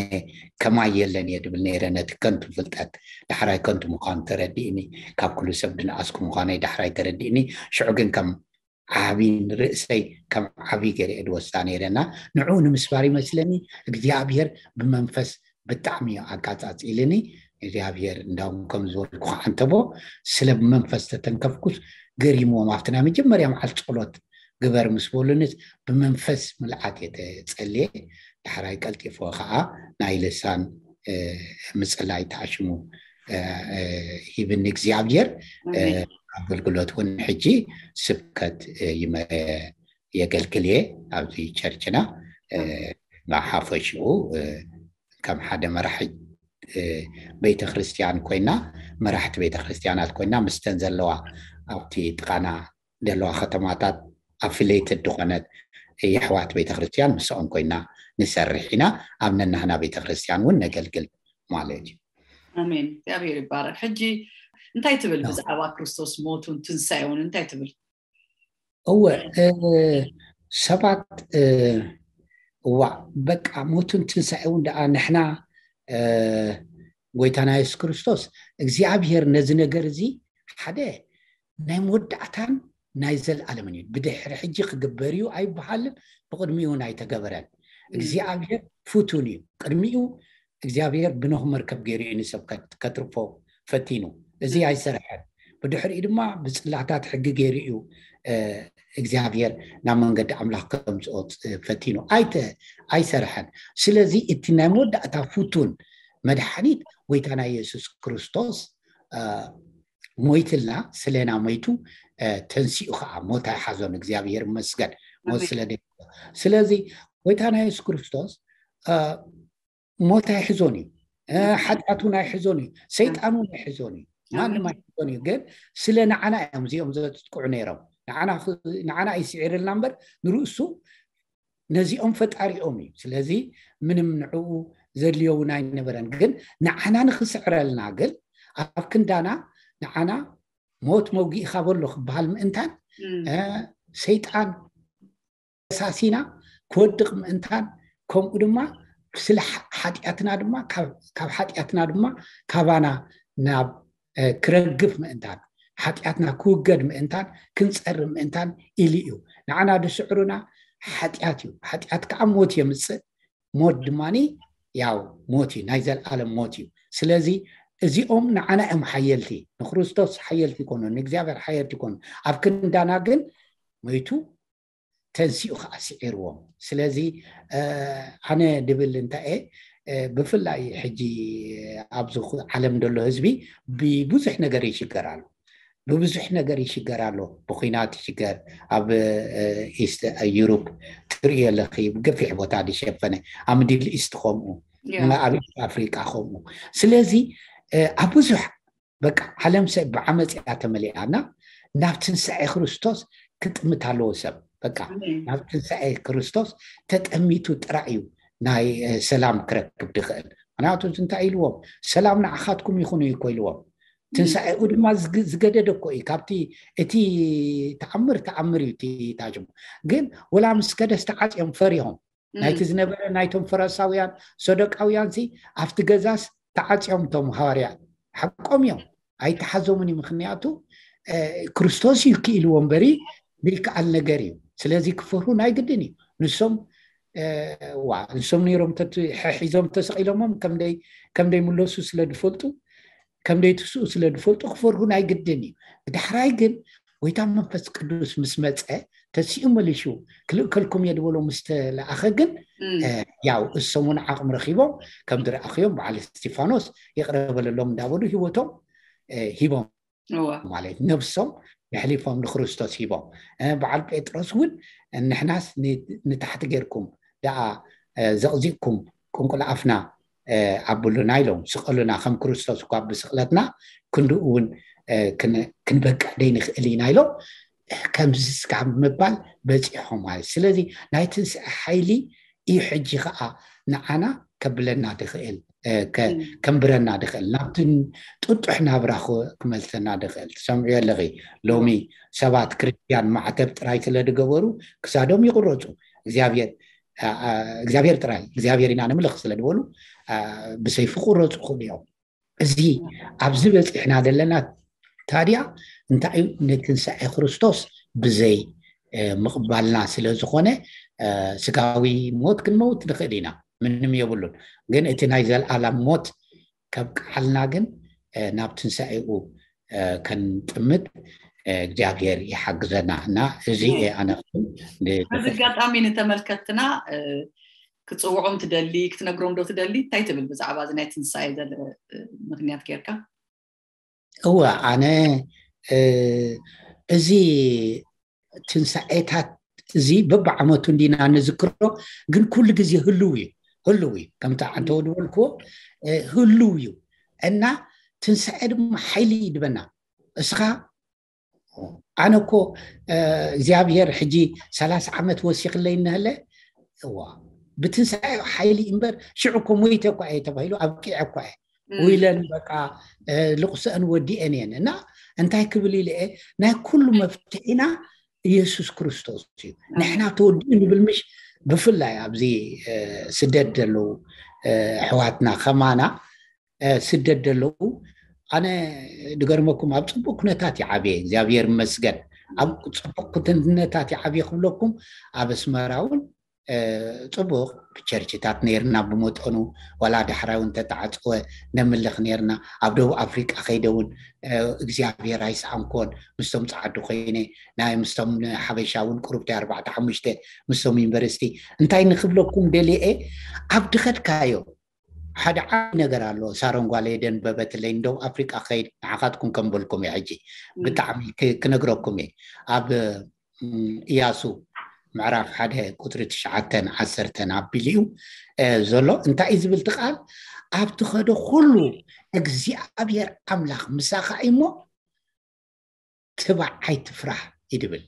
ከማይ የለን እየ ድብል ነይረ ነቲ ከንቱ ፍልጠት ዳሕራይ ከንቱ ምዃኑ ተረዲእኒ ካብ ኩሉ ሰብ ድንኣስኩ ምዃነይ ዳሕራይ ተረዲእኒ ሽዑ ግን ከም ዓቢ ንርእሰይ ከም ዓቢ ገይረ እየ ድወስዳ ነይረ እና ንዕኡ ንምስባር ይመስለኒ እግዚኣብሔር ብመንፈስ ብጣዕሚ እዩ ኣቃጻጺልኒ እግዚኣብሔር እንዳውም ከም ዝበልኩ ከዓንተቦ ስለ ብመንፈስ ተተንከፍኩስ ገሪምዎም ኣብቲ ናይ መጀመርያ መዓልቲ ጸሎት ግበር ምስ በሉንስ ብመንፈስ ምልዓት እየ ተጸልየ ዳሕራይ ቀልጢፎ ከዓ ናይ ልሳን ምፅላይ ተኣሽሙ ሂብኒ እግዚኣብሔር ኣገልግሎት እውን ሕጂ ስብከት የገልግል እየ ኣብዚ ቸርችና ሓፈሽኡ ከም ሓደ መራሒ ቤተክርስትያን ኮይና መራሕቲ ቤተክርስትያናት ኮይና ምስተን ዘለዋ ኣብቲ ጥቃና ዘለዋ ከተማታት ኣፍሌትድ ዝኾነት የሕዋት ቤተክርስትያን ምስኦም ኮይና ንሰርሕ ኢና ኣብ ነናህና ቤተክርስትያን እውን ነገልግል ማለት እዩ ኣሜን እግዚኣብሔር ይባረክ ሕጂ እንታይ ትብል ብዛዕባ ክርስቶስ ሞቱን ትንሳኤውን እንታይ ትብል እወ ሰባት እዋ በቃ ሞቱን ትንሳኤውን ደኣ ንሕና ጎይታና የሱስ ክርስቶስ እግዚኣብሔር ነዚ ነገር እዚ ሓደ ናይ መወዳእታን ናይ ዘለኣለምን እዩ ብድሕሪ ሕጂ ክግበር እዩ ኣይበሃልን ብቅድሚኡ ናይ ተገበረን እግዚኣብሔር ፍቱን እዩ ቅድሚኡ እግዚኣብሔር ብኖህ መርከብ ገይሩ እዩ ንሰብ ከትርፎ ፈቲኑ እዚ ኣይሰርሐን ብድሕሪኡ ድማ ብፅላታት ሕጊ ገይሩ እዩ እግዚኣብሔር ናብ መንገዲ ኣምላኽ ከምፅኦ ፈቲኑ ኣይሰርሐን። ስለዚ እቲ ናይ መወዳእታ ፍቱን መድሓኒት ጎይታና የሱስ ክርስቶስ ሞይትልና ስለና ሞይቱ ተንሲኡ ከዓ ሞት ኣይሓዞን። እግዚኣብሔር ይመስገን። ሞት ስለ ስለዚ ጎይታና የሱስ ክርስቶስ ሞት ኣይሕዞን እዩ። ሓጢኣት እውን ኣይሕዞን እዩ። ሰይጣን እውን ኣይሕዞን እዩ። ማንም ኣይሕዞን እዩ። ግን ስለ ንዓና እዮም እዚኦም ዘጥቅዑ ነይሮም። ንዓና እዩ ስዒርልና እምበር ንርእሱ ነዚኦም ፈጣሪኦም እዩ። ስለዚ ምንም ንዕኡ ዘድልዮ እውን ኣይነበረን። ግን ንዓና ንክስዕረልና ግን ኣብ ክንዳና ንዓና ሞት መውጊእኻ በሎ ክበሃል ምእንታን ሰይጣን ተሳሲና ክወድቕ ምእንታን ከምኡ ድማ ስለ ሓጢኣትና ድማ ካብ ሓጢኣትና ድማ ካባና ናብ ክረግፍ ምእንታን ሓጢኣትና ክውገድ ምእንታን ክንፀሪ ምእንታን ኢሉ እዩ። ንዓና ዝስዕሩና ሓጢኣት እዩ። ሓጢኣት ከዓ ሞት የምፅእ። ሞት ድማ ያው ሞት እዩ፣ ናይ ዘለኣለም ሞት እዩ። ስለዚ እዚኦም ንዓና እዮም ሓየልቲ፣ ንክርስቶስ ሓየልቲ ይኮኑ፣ ንእግዚኣብሔር ሓየልቲ ይኮኑ። ኣብ ክንዳና ግን ሞይቱ ተንሲኡ ከዓ ስዒርዎም። ስለዚ ኣነ ድብል እንታይ እየ ብፍላይ ሕጂ ኣብዚ ዓለም ዘሎ ህዝቢ ብብዙሕ ነገር ይሽገር ኣሎ። ብብዙሕ ነገር ይሽገር ኣሎ። ብኩናት ይሽገር። ኣብ ኢስት ዩሮፕ ትርእዮ ኣለኺ፣ ብገፊሕ ቦታ ዝሸፈነ፣ ኣብ ሚድል ኢስት ከምኡ፣ ኣብ ኢስት ኣፍሪቃ ከምኡ። ስለዚ ኣብ ብዙሕ በቃ ዓለም ሰብ ብዓመፅ እያ ተመሊኣና። ናብ ትንሳኤ ክርስቶስ ክጥምት ኣለዎ ሰብ። በቃ ናብ ትንሳኤ ክርስቶስ ተጠሚቱ ጥራይ እዩ ናይ ሰላም ክረክብ ድኽእል። ምክንያቱ እንታይ ኢልዎም? ሰላም ንዓኻትኩም ይኹን እዩ እኮ ኢልዎም። ትንሳኤኡ ድማ ዝገደደ እኮ እዩ። ካብቲ እቲ ተኣምር ተኣምር እዩ እቲ ታጅሞ። ግን ወላ ምስ ከደስ ተዓፅዮም ፈሪሆም ናይቲ ዝነበረ ናይቶም ፈረሳውያን ሰዶቃውያን ሲ ኣብቲ ገዛስ ተዓፅዮም እቶም ሃዋርያት ሓቆም እዮም። ኣይተሓዞምን እዩ። ምክንያቱ ክርስቶስ እዩ ክኢልዎ እምበሪ ዘይከኣል ነገር እዩ። ስለዚ ክፈርሁ ናይ ግድን እዩ። ንሶም ዋ ንሶም ነይሮም ሒዞም ተሰቂሎሞም ከምደይ ምለሱ ስለ ዝፈልጡ ከምደይ ትስኡ ስለ ዝፈልጡ ክፈርሁ ናይ ግድን እዩ። ብዳሕራይ ግን ጎይታ መንፈስ ቅዱስ ምስ መፀ ተሲኡ መሊሹ ክልእከልኩም እየ ዝበሎ ምስ ተለኣኸ ግን ያው እሶም እውን ዓቕሚ ረኪቦም ከም ዝረኣኽዮም በዓል እስጢፋኖስ ይቕረ በለሎም እንዳበሉ ህይወቶም ሂቦም ማለት ነብሶም የሕሊፎም ንክርስቶስ ሂቦም። በዓል ጴጥሮስ እውን ንሕናስ ንታሕቲ ጌርኩም ደኣ ዘቕዚቕኩም ቁንቁል ኣፍና ኣብሉና ኢሎም ስቐሉና ከም ክርስቶስ እኳ ብስቕለትና ክንድኡ እውን ክንበቅዕ ደይንኽእል ኢና ኢሎም ከምዚ ስጋብ ምባል በፂሖም ማለት። ስለዚ ናይ ትንስኤ ሓይሊ እዩ ሕጂ ከዓ ንዓና ከብለና ድኽእል ከንብረና ድኽእል ናብቲ ጥጡሕ ናብራ ክመልሰና ድኽእል። ትሰምዑ ኣለኺ ሎሚ ሰባት ክርስትያን ማዕተብ ጥራይ ስለ ዝገበሩ ክሳዶም ይቁረፁ። እግዚኣብሔር እግዚኣብሔር ጥራይ እግዚኣብሔር ኢና ንምልኽ ስለ ዝበሉ ብሰይፊ ክቁረፁ ክእሉ እዮም። እዚ ኣብዚ በፂሕና ዘለና ታዲያ እንታይ እዩ? ንትንሳኤ ክርስቶስ ብዘይ ምቕባልና ስለ ዝኾነ ስጋዊ ሞት ክንመውት ንኽእል ኢና፣ ምንም የብሉን። ግን እቲ ናይ ዘለኣለም ሞት ከብቅዓልና ግን ናብ ትንሳኤኡ ከንጥምት እግዚኣብሔር ይሓግዘና እና እዚ ኣነ በዚ ኣጋጣሚ ንተመልከትና ክፅውዖም ትደሊ ክትነግሮም ዶ ትደሊ? እንታይ ትብል ብዛዕባ እዚ ናይ ትንሳኤ ምክንያት ጌርካ? እወ ኣነ እዚ ትንሳኤታት እዚ በብዓመቱ እንዲና ንዝክሮ፣ ግን ኩሉ ግዜ ህልው እዩ ህልው እዩ ከምቲ ኣንተ ዝበልክዎ ህልው እዩ እና ትንሳኤ ድማ ሓይሊ እዩ ድበና። እስኻ ኣነ እኮ እግዚኣብሔር ሕጂ ሰላሳ ዓመት ወሲኽለይ እነህለ እዋ ብትንሳኤ ሓይሊ እምበር ሽዑ እኮ ሞይተ እኳ እየ ተባሂሉ ኣብቂዐ እኳ እየ ውይለን በቃ ልቕሰአን ወዲአን እየን እና እንታይ ክብል ኢለ እየ ናይ ኩሉ መፍትሒና ኢየሱስ ክርስቶስ እዩ። ንሕና ተወዲኡ ንብል ምሽ ብፍላይ ኣብዚ ስደት ዘለዉ ኣሕዋትና ከማና ስደት ዘለዉ ኣነ ድገርመኩም ኣብ ፅቡቅ ኩነታት ይዓብየ እግዚኣብሔር ይመስገን ኣብ ፅቡቅ ኩነታት ይዓብየ ክብለኩም ኣብ ኣስመራ እውን ፅቡቅ ቸርችታት ነርና ብመጠኑ፣ ዋላ ዳሕራይ እውን ተተዓፀወ ነምልኽ ነርና። ኣብ ደቡብ ኣፍሪቃ ከይደ እውን እግዚኣብሔር ኣይሰኣንኮን፣ ምስቶም ፀዓዱ ኮይነ ናይ ምስቶም ሓበሻ እውን ቁሩብቲ ኣርባዕተ ሓሙሽተ ምስቶም ዩኒቨርሲቲ። እንታይ ንክብለኩም ደልየ፣ ኣብ ድኸድካዮ ሓደ ዓቢ ነገር ኣሎ። ሳሮን ጓለይ ደንበበትለይ፣ ንደቡብ ኣፍሪቃ ከይድ ንዓኻትኩም ከም በልኩም እየ። ሕጂ ብጣዕሚ ክነግረኩም እየ። ኣብ እያሱ ምዕራፍ ሓደ ቁፅሪ ትሽዓተን ዓሰርተን ኣቢሉ እዩ ዘሎ። እንታይ እዩ ዝብል እቲ ቃል? ኣብቲ ኸዶ ኩሉ እግዚኣብሔር ኣምላኽ ምሳኻ እሞ ትባዕ ኣይትፍራህ ይድብል።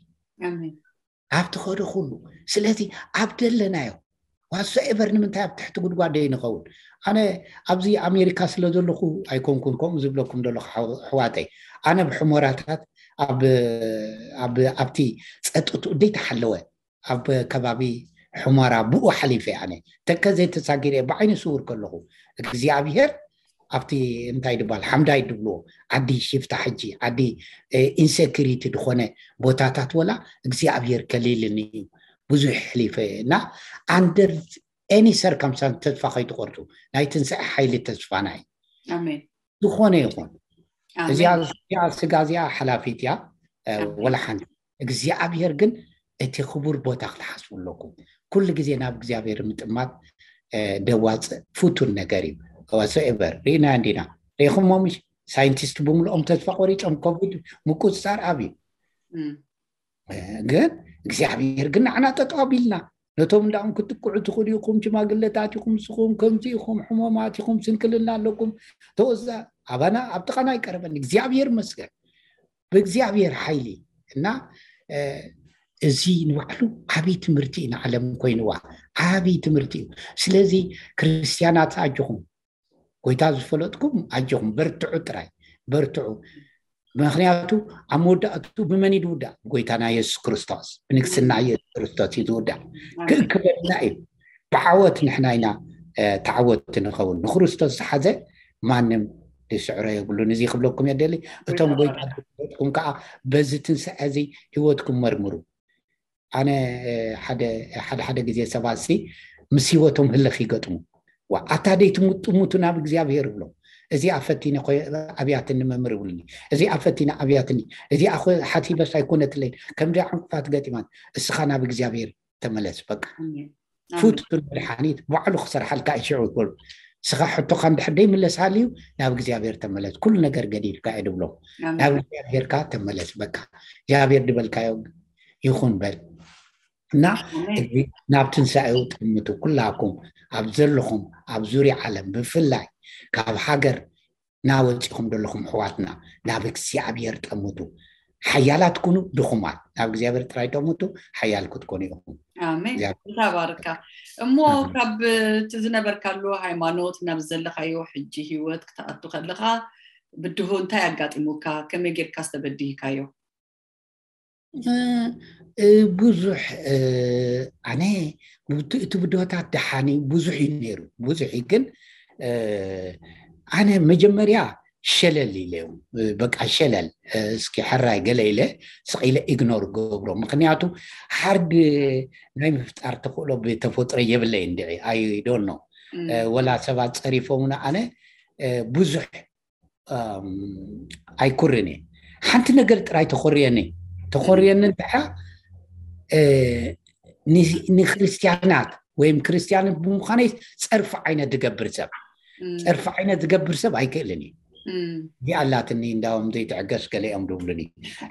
ኣብቲ ኸዶ ኩሉ። ስለዚ ኣብ ደለናዮ ዋሶኤቨር ንምንታይ ኣብ ትሕቲ ጉድጓድ ደይንኸውን? ኣነ ኣብዚ ኣሜሪካ ስለ ዘለኹ ኣይኮንኩን ከምኡ ዝብለኩም ዘለኹ ኣሕዋተይ። ኣነ ብሕሞራታት ኣብቲ ፀጥትኡ ደይተሓለወ ኣብ ከባቢ ሕሞራ ብኡ ሓሊፈ። ኣነ ተከዘ ተሳጊረ ብዓይኒ ስውር ከለኹ እግዚኣብሔር ኣብቲ እንታይ ድባል ሓምዳይ ድብልዎ ዓዲ ሽፍታ ሕጂ ዓዲ ኢንሴኪሪቲ ዝኾነ ቦታታት ወላ እግዚኣብሔር ከሊልኒ እዩ። ብዙሕ ሕሊፈ እና under any circumstance ተስፋ ከይትቆርፁ። ናይ ትንሳኤ ሓይሊ ተስፋና እዩ። ዝኾነ ይኹን እዚኣ ስጋ እዚኣ ሓላፊት እያ። ወላ ሓንቲ እግዚኣብሔር ግን እቲ ክቡር ቦታ ክትሓስቡ ኣለኩም። ኩሉ ግዜ ናብ እግዚኣብሔር ምጥማት ደዋፅእ ፍቱን ነገር እዩ። ወሰኤቨር ርኢና እንዲና ሪኢኹሞ ምሽ? ሳይንቲስት ብምልኦም ተስፋ ቆሪፆም ኮቪድ ምቁፅፃር ኣብዩ። ግን እግዚኣብሔር ግን ንዓና ጠጠው ኣቢልና ነቶም እንዳኹም ክትጥቅዑ ትኽእሉ ኢኹም፣ ሽማግለታት ኢኹም፣ ንስኹም ከምዚ ኢኹም፣ ሕሞማት ኢኹም፣ ስንክልና ኣለኩም፣ ተወዛ ኣባና ኣብ ጥቓና ኣይቀረበን። እግዚኣብሔር ይመስገን ብእግዚኣብሔር ሓይሊ እና እዚ ንባዕሉ ዓብይ ትምህርቲ እዩ ንዓለም ኮይንዋ፣ ዓብይ ትምህርቲ እዩ። ስለዚ ክርስትያናት ኣጆኹም፣ ጎይታ ዝፈለጥኩም ኣጆኹም፣ በርትዑ ጥራይ በርትዑ። ምክንያቱ ኣብ መወዳእቱ ብመን እዩ ዝውዳእ? ጎይታና የሱስ ክርስቶስ፣ ብንግስና የሱስ ክርስቶስ እዩ ዝውዳእ። ክእክበልና እዩ። ብዓወት ንሕና ኢና ተዓወትቲ ንኸውን። ንክርስቶስ ዝሓዘ ማንም ዝስዕሮ የብሉን። እዚ ክብለኩም የደሊ። እቶም ጎይታ ዝፈለጥኩም ከዓ በዚ ትንሳኤ እዚ ህይወትኩም መርምሩ። ኣነ ሓደ ሓደ ግዜ ሰባት ሲ ምስ ህይወቶም ህልኽ ይገጥሙ። ዋ ኣታ ደይ ትምጥሙቱ ናብ እግዚኣብሔር ብሎ። እዚ ኣፈቲነ ኣብያትኒ መምህር ይብሉኒ። እዚ ኣፈቲነ ኣብያትኒ። እዚ ሓሲበስ ኣይኮነትለይን። ከምዚ ዕንቅፋት ገጢማት። እስኻ ናብ እግዚኣብሔር ተመለስ በቃ። ፍቱን መድሓኒት ባዕሉ ክሰርሓልካ እዩ ሽዑ ይበሉ። እስኻ ሕቶኻ እንድሕር ደይምለስሃልዩ ናብ እግዚኣብሔር ተመለስ። ኩሉ ነገር ገዲፍካ እየ ድብሎ። ናብ እግዚኣብሔርካ ተመለስ በቃ። እግዚኣብሔር ድበልካዮ ይኹን በል እና ናብ ትንሳኤው ጥምቱ ኩላኩም ኣብ ዘለኹም ኣብ ዙርያ ዓለም ብፍላይ ካብ ሃገር ናወፂኹም ዘለኹም ኣሕዋትና ናብ እግዚኣብሔር ጠምቱ። ሓያላት ኩኑ ድኹማት ናብ እግዚኣብሔር ጥራይ ጠምቱ። ሓያል ክትኮኑ ኢኹም። ኣሜን። ተባርካ። እሞ ካብ እቲ ዝነበርካሉ ሃይማኖት ናብ ዘለካዮ ሕጂ ህይወት ክትኣቱ ከለካ ብድሆ እንታይ ኣጋጢሙካ? ከመይ ጌርካ ዝተበድህካዮ? ብዙሕ ኣነ እቲ ብድሆታት ደሓኒ ብዙሕ እዩ ነይሩ። ብዙሕ እዩ ግን ኣነ መጀመርያ ሸለል ኢለ በቃ ሸለል እስኪ ሕራይ ገለ ኢለ ስቕ ኢለ ኢግኖር ገብሮ። ምክንያቱ ሃርድ ናይ ምፍጣር ተኽእሎ ብተፈጥሮ የብለይ እንድዒ ኣይዶኖ ወላ ሰባት ፀሪፎምና ኣነ ብዙሕ ኣይኩርን እየ። ሓንቲ ነገር ጥራይ ተኮርየኒ ተኮርየኒ እንድዓ ንክርስትያናት ወይም ክርስትያንን ብምዃነይ ፀርፊ ዓይነት ዝገብር ሰብ ፀርፊ ዓይነት ዝገብር ሰብ ኣይክእልን እዩ። እዚኣ ኣላትኒ እንዳውም ዘይትዕገስ ገለ እዮም ዝብሉኒ።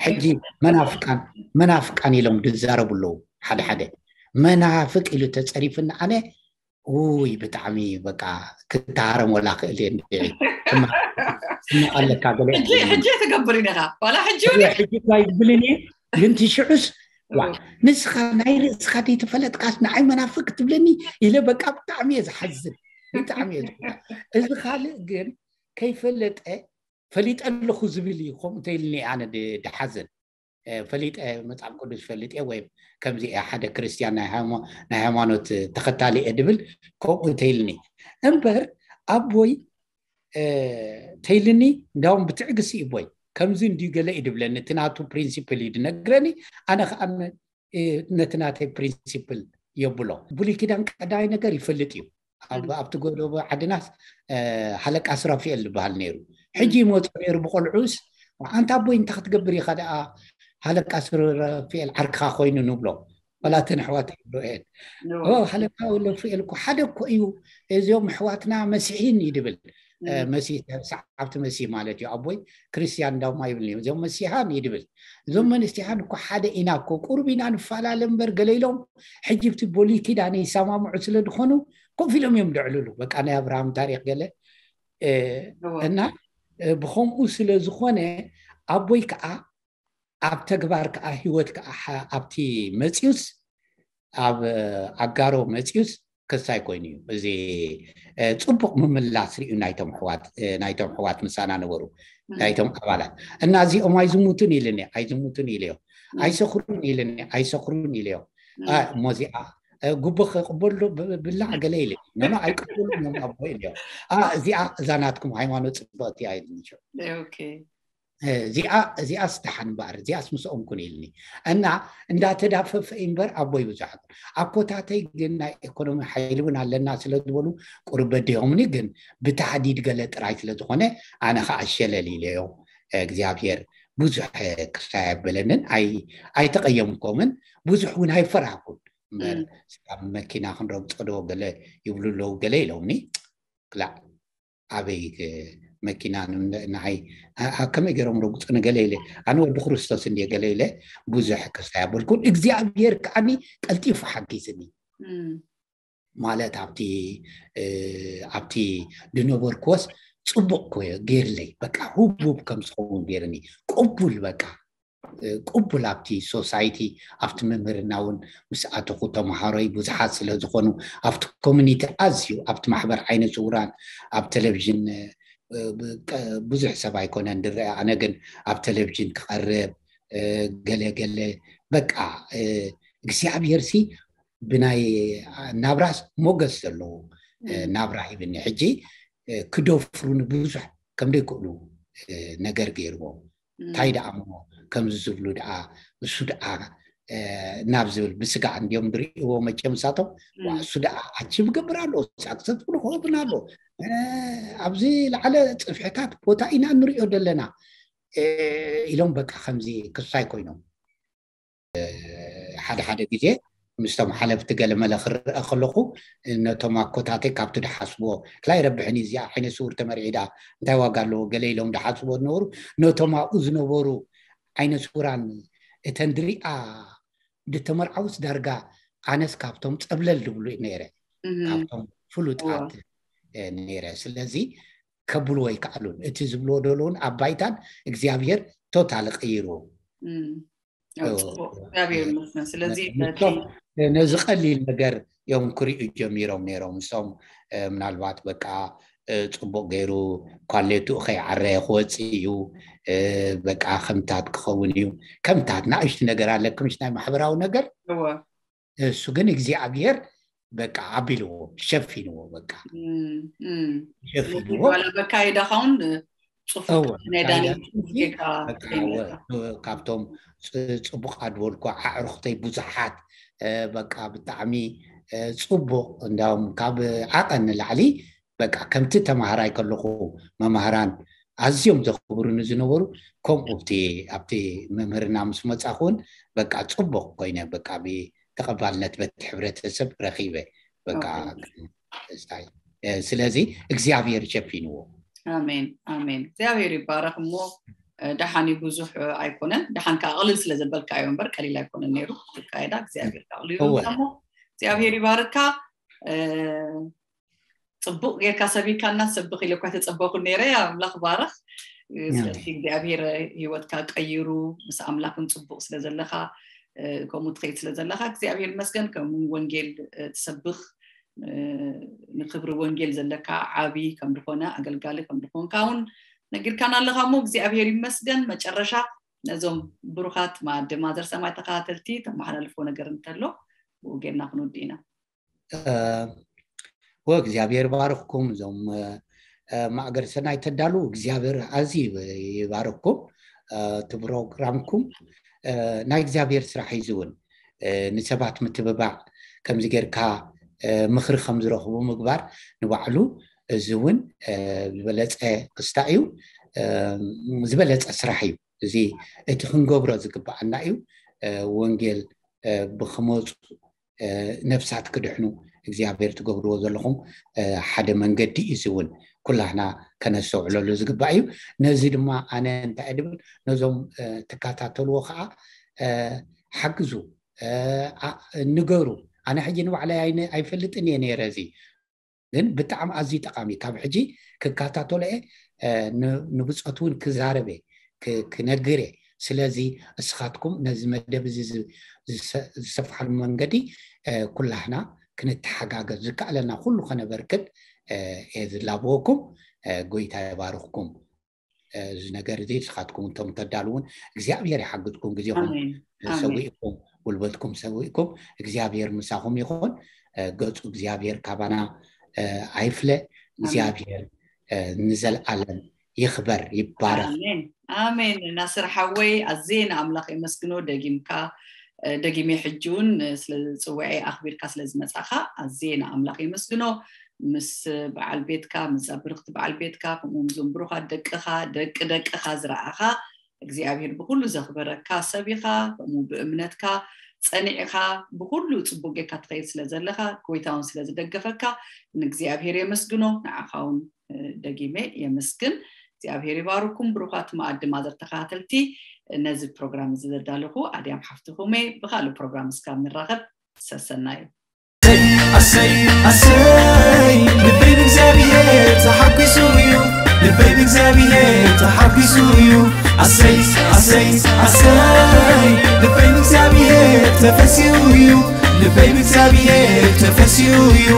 ሕጂ መናፍቃን መናፍቃን ኢሎም ዝዛረቡ ኣለዉ። ሓደ ሓደ መናፍቅ ኢሉ ተፀሪፍኒ ኣነ ውይ ብጣዕሚ በቃ ክተሃረም ወላ ክእል እየ እንድዒ ኣለካ ገለ ሕጂ ትገብር ኢኻ ዋላ ሕጂ እውን ሕጂ ታይ ዝብልን እየ ግን ትሽዑስ ዋ ንስኻ ናይ ርእስኻ ዘይተፈለጥካስ ንዓይ መናፍቅ ትብለኒ ኢለ በቃ ብጣዕሚ እየ ዝሓዝን ብጣዕሚ እየ ዝሓዝን። እዚ ካልእ ግን ከይፈለጠ ፈሊጠ ኣለኹ ዝብል እዩ። ከምኡ ተይልኒ ኣነ ድሓዝን ፈሊጠ መፅሓፍ ቅዱስ ፈልጥ እየ ወይም ከምዚ እየ ሓደ ክርስትያን ናይ ሃይማኖት ተኸታሊ እየ ድብል ከምኡ ተይልኒ እምበር ኣቦይ ተይልኒ እንዳውም ብትዕግሲ እዩ ቦይ ከምዚ እንድዩ ገለ እዩ ድብለኒ እቲ ናቱ ፕሪንሲፕል እዩ ድነግረኒ ኣነ ከዓ ነቲ ናተይ ፕሪንሲፕል የብሎ። ብሉይ ኪዳን ቀዳማይ ነገር ይፈልጥ እዩ። ኣብ ኣብቲ ጎደቦ ዓድናስ ሃለቃ ስራፊኤል ዝበሃል ነይሩ። ሕጂ ይመፁ ነይሩ ብቆልዑስ፣ ኣንታ ኣቦይ እንታይ ክትገብር ኢኻ ደኣ ሃለቃ ስራፊኤል ዓርክኻ ኮይኑ ንብሎ። ወላ እተን ኣሕዋት ይብሎ እየን። ሃለቃ ወለፍኤል እኮ ሓደ እኮ እዩ። እዚኦም ኣሕዋትና መሲሒን ይድብል። መሲሕ ሰዓብቲ መሲሕ ማለት እዩ። ኣቦይ ክርስቲያን እንዳውማ ይብል እዚኦም መሲሓን ይድብል። እዞም መንስቲሓን እኮ ሓደ ኢና እኮ፣ ቁሩብ ኢና ንፈላለ እምበር ገለ ኢሎም። ሕጂ ብቲ ብሉይ ኪዳን ይሰማምዑ ስለ ዝኾኑ ኮፍ ኢሎም እዮም ደዕልሉ። በቃ ናይ ኣብርሃም ታሪክ ገለ እና ብኸምኡ ስለ ዝኾነ ኣቦይ ከዓ ኣብ ተግባር ከዓ ህይወት ከዓ ኣብቲ መፅዩስ ኣብ ኣጋሮ መፅዩስ ክሳይ ኮይኑ እዩ። እዚ ፅቡቅ ምምላስ ሪኡ ናይቶም ሕዋት ናይቶም ሕዋት ምሳና ነበሩ ናይቶም ኣባላት እና እዚኦም ኣይዝሙቱን ኢልኒ ኣይዝሙቱን ኢልዮ ኣይሰኽሩን ኢልኒ ኣይሰኽሩን ኢልዮ። እሞዚኣ ጉቦ ክቅበሉ ብላዕ ገለ ኢለ ኖኖ ኣይቅበሉ እዮም ኣቦ ኢልዮ። እዚኣ እዛ ናትኩም ሃይማኖት ፅብቅቲ ኣይልኒ። እዚኣ እዚኣ ስታሓን እምበኣር እዚኣስ ምስኦም ኩን ኢልኒ እና እንዳተዳፈፈ እምበር ኣቦይ ብዙሕ ኣኮታተይ ግን ናይ ኢኮኖሚ ሓይሊ እውን ኣለና ስለ ዝበሉ ቁርብ በዲሆምኒ ግን ብታሕዲድ ገለ ጥራይ ስለ ዝኾነ ኣነ ከዓ ሸለል ኢለዮ። እግዚኣብሔር ብዙሕ ክስታይ ኣበለንን ኣይተቀየምኮምን ብዙሕ እውን ኣይፈራህኩን እምበር ስጋብ መኪና ክንረግፆ ዶ ገለ ይብሉ ኣለዉ ገለ ኢሎምኒ ክላእ ኣበይ መኪና ንዓይ ከመይ ገይሮም ረግፁ ንገለ ኢለ ኣነ ወዲ ክርስቶስ እንድየ ገለ ኢለ ብዙሕ ክስታይ ኣበልኩን እግዚኣብሔር ከዓኒ ቀልጢፉ ሓጊዝኒ ማለት ኣብቲ ኣብቲ ድነበርክዎስ ፅቡቅ ኮዮ ገይርለይ በቃ ህቡብ ከም ዝኸውን ገይርኒ ቅቡል በቃ ቅቡል ኣብቲ ሶሳይቲ ኣብቲ ምምህርና እውን ምስ ኣተኹ ተምሃሮይ ብዙሓት ስለ ዝኾኑ ኣብቲ ኮሚኒቲ ኣዝዩ ኣብቲ ማሕበር ዓይነ ስውራን ኣብ ቴሌቪዥን ብዙሕ ሰብ ኣይኮነን ዝረአ ኣነ ግን ኣብ ቴሌቪዥን ክቐርብ ገለ ገለ በቃ እግዚኣብሔር ሲ ብናይ ናብራስ ሞገስ ዘለዎ ናብራ ሂብኒ ሕጂ ክደፍሩኒ ብዙሕ ከም ዘይክእሉ ነገር ገይርዎም እንታይ ደኣ እሞ ከምዚ ዝብሉ ደኣ እሱ ደኣ ናብ ዝብል ብስጋ እንዲዮም ዝርእይዎ መቸም ንሳቶም እሱ ደኣ ኣቺቭ ገብር ኣሎ ሳክሰስፉል ክኸውን ኣሎ ኣብዚ ላዕለ ፅፍሕታት ቦታ ኢና ንሪኦ ዘለና ኢሎም በቃ ከምዚ ክሳይ ኮይኖም ሓደ ሓደ ግዜ ምስቶም ሓለፍቲ ገለመለ ክረአ ከለኹ ነቶም ኣኮታተይ ካብቲ ድሓስብዎ ክላይ ረብሕኒ እዚኣ ዓይነ ስውር ተመርዒ ደኣ እንታይ ዋጋ ኣለዎ ገለ ኢሎም ድሓስብዎ ዝነበሩ ነቶም ኣብኡ ዝነበሩ ዓይነ ስውራን እተን ድሪኣ ድተመርዓውስ ዳርጋ ኣነስ ካብቶም ፀብለል ድብሉ ነይረ ካብቶም ፍሉጣት ነይረ ስለዚ ከብልዎ ይከኣሉን እቲ ዝብልዎ ደለውን ኣብ ባይታን እግዚኣብሔር ቶታል ቀይርዎ እግዚኣብሔር ይመስገን ስለዚ ነዚ ቀሊል ነገር እዮም ክሪኡ ጀሚሮም ነይሮም እሶም ምናልባት በቃ ፅቡቅ ገይሩ ኳሌቱ ከይዓረየ ክወፅእ እዩ በቃ ከምታት ክኸውን እዩ ከምታት ንእሽቲ ነገር ኣለኩም ናይ ማሕበራዊ ነገር እሱ ግን እግዚኣብሔር በቃ ኣቢልዎ ሸፊንዎ በቃ ሸፊንዎ በካይዳ ካውን ፅፉቅ ናይ ዳንኤል ካብቶም ፅቡቃት ዝበልኩ ኣዕሩክተይ ብዙሓት በቃ ብጣዕሚ ፅቡቅ እንዳውም ካብ ዓቐን ንላዕሊ በቃ ከምቲ ተማሃራይ ከለኹ መማህራን ኣዝዮም ዘኽብሩኒ ዝነበሩ ከምኡ ኣብቲ ኣብቲ መምህርና ምስ መፃኹ እውን በቃ ፅቡቅ ኮይነ በቃ ተቐባልነት በቲ ሕብረተሰብ ረኺበ በቃ ስለዚ እግዚኣብሔር ሸፊንዎ ኣሜን ኣሜን እግዚኣብሔር ይባረክ እሞ ደሓን ብዙሕ ኣይኮነን ደሓን ከዓ ቅልል ስለ ዘበልካ እዮ እምበር ቀሊል ኣይኮነን ነይሩ ካይዳ እግዚኣብሔር ኣቅሊሉ እሞ እግዚኣብሔር ይባርካ ፅቡቅ ጌርካ ሰቢካና ሰብኽ ኢለኳ ተፀበኩ ነይረ ኣምላኽ ባረኽ ስለዚ እግዚኣብሔር ህይወትካ ቀይሩ ምስ ኣምላኽን ፅቡቅ ስለ ዘለካ ከምኡ ትኸይድ ስለ ዘለካ እግዚኣብሔር ይመስገን ከም ወንጌል ትሰብኽ ንክብሪ ወንጌል ዘለካ ዓብይ ከም ዝኾነ ኣገልጋሊ ከም ዝኾንካ እውን ነጊርካና ኣለካ እሞ እግዚኣብሔር ይመስገን መጨረሻ ነዞም ብሩኻት ማኣዲ ማዘር ሰማይ ተኸታተልቲ ተመሓላልፎ ነገር እንተሎ ብኡ ጌርና ክንውድ ኢና ወእግዚኣብሔር ባርኽኩም እዞም ማእገር ሰናይ ተዳሉ እግዚኣብሔር ኣዝዩ ይባርኽኩም እቲ ፕሮግራምኩም ናይ እግዚኣብሔር ስራሕ እዩ እውን ንሰባት ምትብባዕ ከምዚ ጌርካ ምኽሪ ከም ዝረኽቡ ምግባር ንባዕሉ እዚ እውን ዝበለፀ ክስታ እዩ፣ ዝበለፀ ስራሕ እዩ። እዚ እቲ ክንገብሮ ዝግባኣና እዩ። ወንጌል ብክመፁ ነፍሳት ክድሕኑ እግዚኣብሔር ትገብርዎ ዘለኹም ሓደ መንገዲ እዩ። እዚ እውን ኩላህና ከነስተውዕለሉ ዝግባእ እዩ። ነዚ ድማ ኣነ እንታይ ድብል ነዞም ትከታተልዎ ከዓ ሓግዙ፣ ንገሩ። ኣነ ሕጂ ንባዕለይ ኣይፈልጥን እየ ነይረ። እዚ ግን ብጣዕሚ ኣዝዩ ጠቃሚ፣ ካብ ሕጂ ክከታተሎ እየ፣ ንብፆት እውን ክዛረበ ክነግር እየ። ስለዚ እስኻትኩም ነዚ መደብ እዚ ዝሰፍሓሉ መንገዲ ኩላህና ክንተሓጋገዝ ዝከኣለና ኩሉ ከነበርክት እየ ዝላበወኩም። ጎይታ ይባርኽኩም። እዚ ነገር እዚ ንስኻትኩም እንቶም ተዳልውን እግዚኣብሔር ይሓግዝኩም። ግዜኹም ሰዊእኩም፣ ጉልበትኩም ሰዊእኩም፣ እግዚኣብሔር ምሳኹም ይኹን። ገፁ እግዚኣብሔር ካባና ኣይፍለ። እግዚኣብሔር ንዘለኣለም ይኽበር ይባረኽ። ኣሜን። ናስር ሓወይ ኣዝየ ንኣምላኽ የመስግኖ። ደጊምካ ደጊሜ ሕጂ እውን ስለ ዝፅውዐ ኣኽቢርካ ስለ ዝመፃኻ ኣዝየ ንኣምላኽ የመስግኖ። ምስ በዓል ቤትካ፣ ምስ ብርኽቲ በዓል ቤትካ፣ ከምኡ ምስዞም ብሩኻት ደቅኻ፣ ደቂ ደቅኻ ዝረኣኻ እግዚኣብሔር ብኩሉ ዘኽበረካ ሰብ ኢኻ። ከምኡ ብእምነትካ ፀኒዕኻ ብኩሉ ፅቡቅ ጌርካ ትኸይድ ስለ ዘለኻ፣ ጎይታ እውን ስለ ዝደገፈካ ንእግዚኣብሔር የመስግኖ። ንዓኻ እውን ደጊመ የመስግን። እግዚኣብሔር ይባርኩም ብሩኻት መኣዲ ማዘር ተኸታተልቲ። ነዚ ፕሮግራም እዚ ዘዳለኹ ኣድያም ሓፍትኹም እየ። ብኻልእ ፕሮግራም እስካብ ንራኸብ ሰሰናዩ። ኣሰይ ኣሰይ ልበይ ብእግዚኣብሔር ተሓጒሱ እዩ። ልበይ ብእግዚኣብሔር ተሓጒሱ እዩ። ኣሰይ ኣሰይ ኣሰይ ልበይ ብእግዚኣብሔር ተፈሲሁ እዩ። ልበይ ብእግዚኣብሔር ተፈሲሁ እዩ።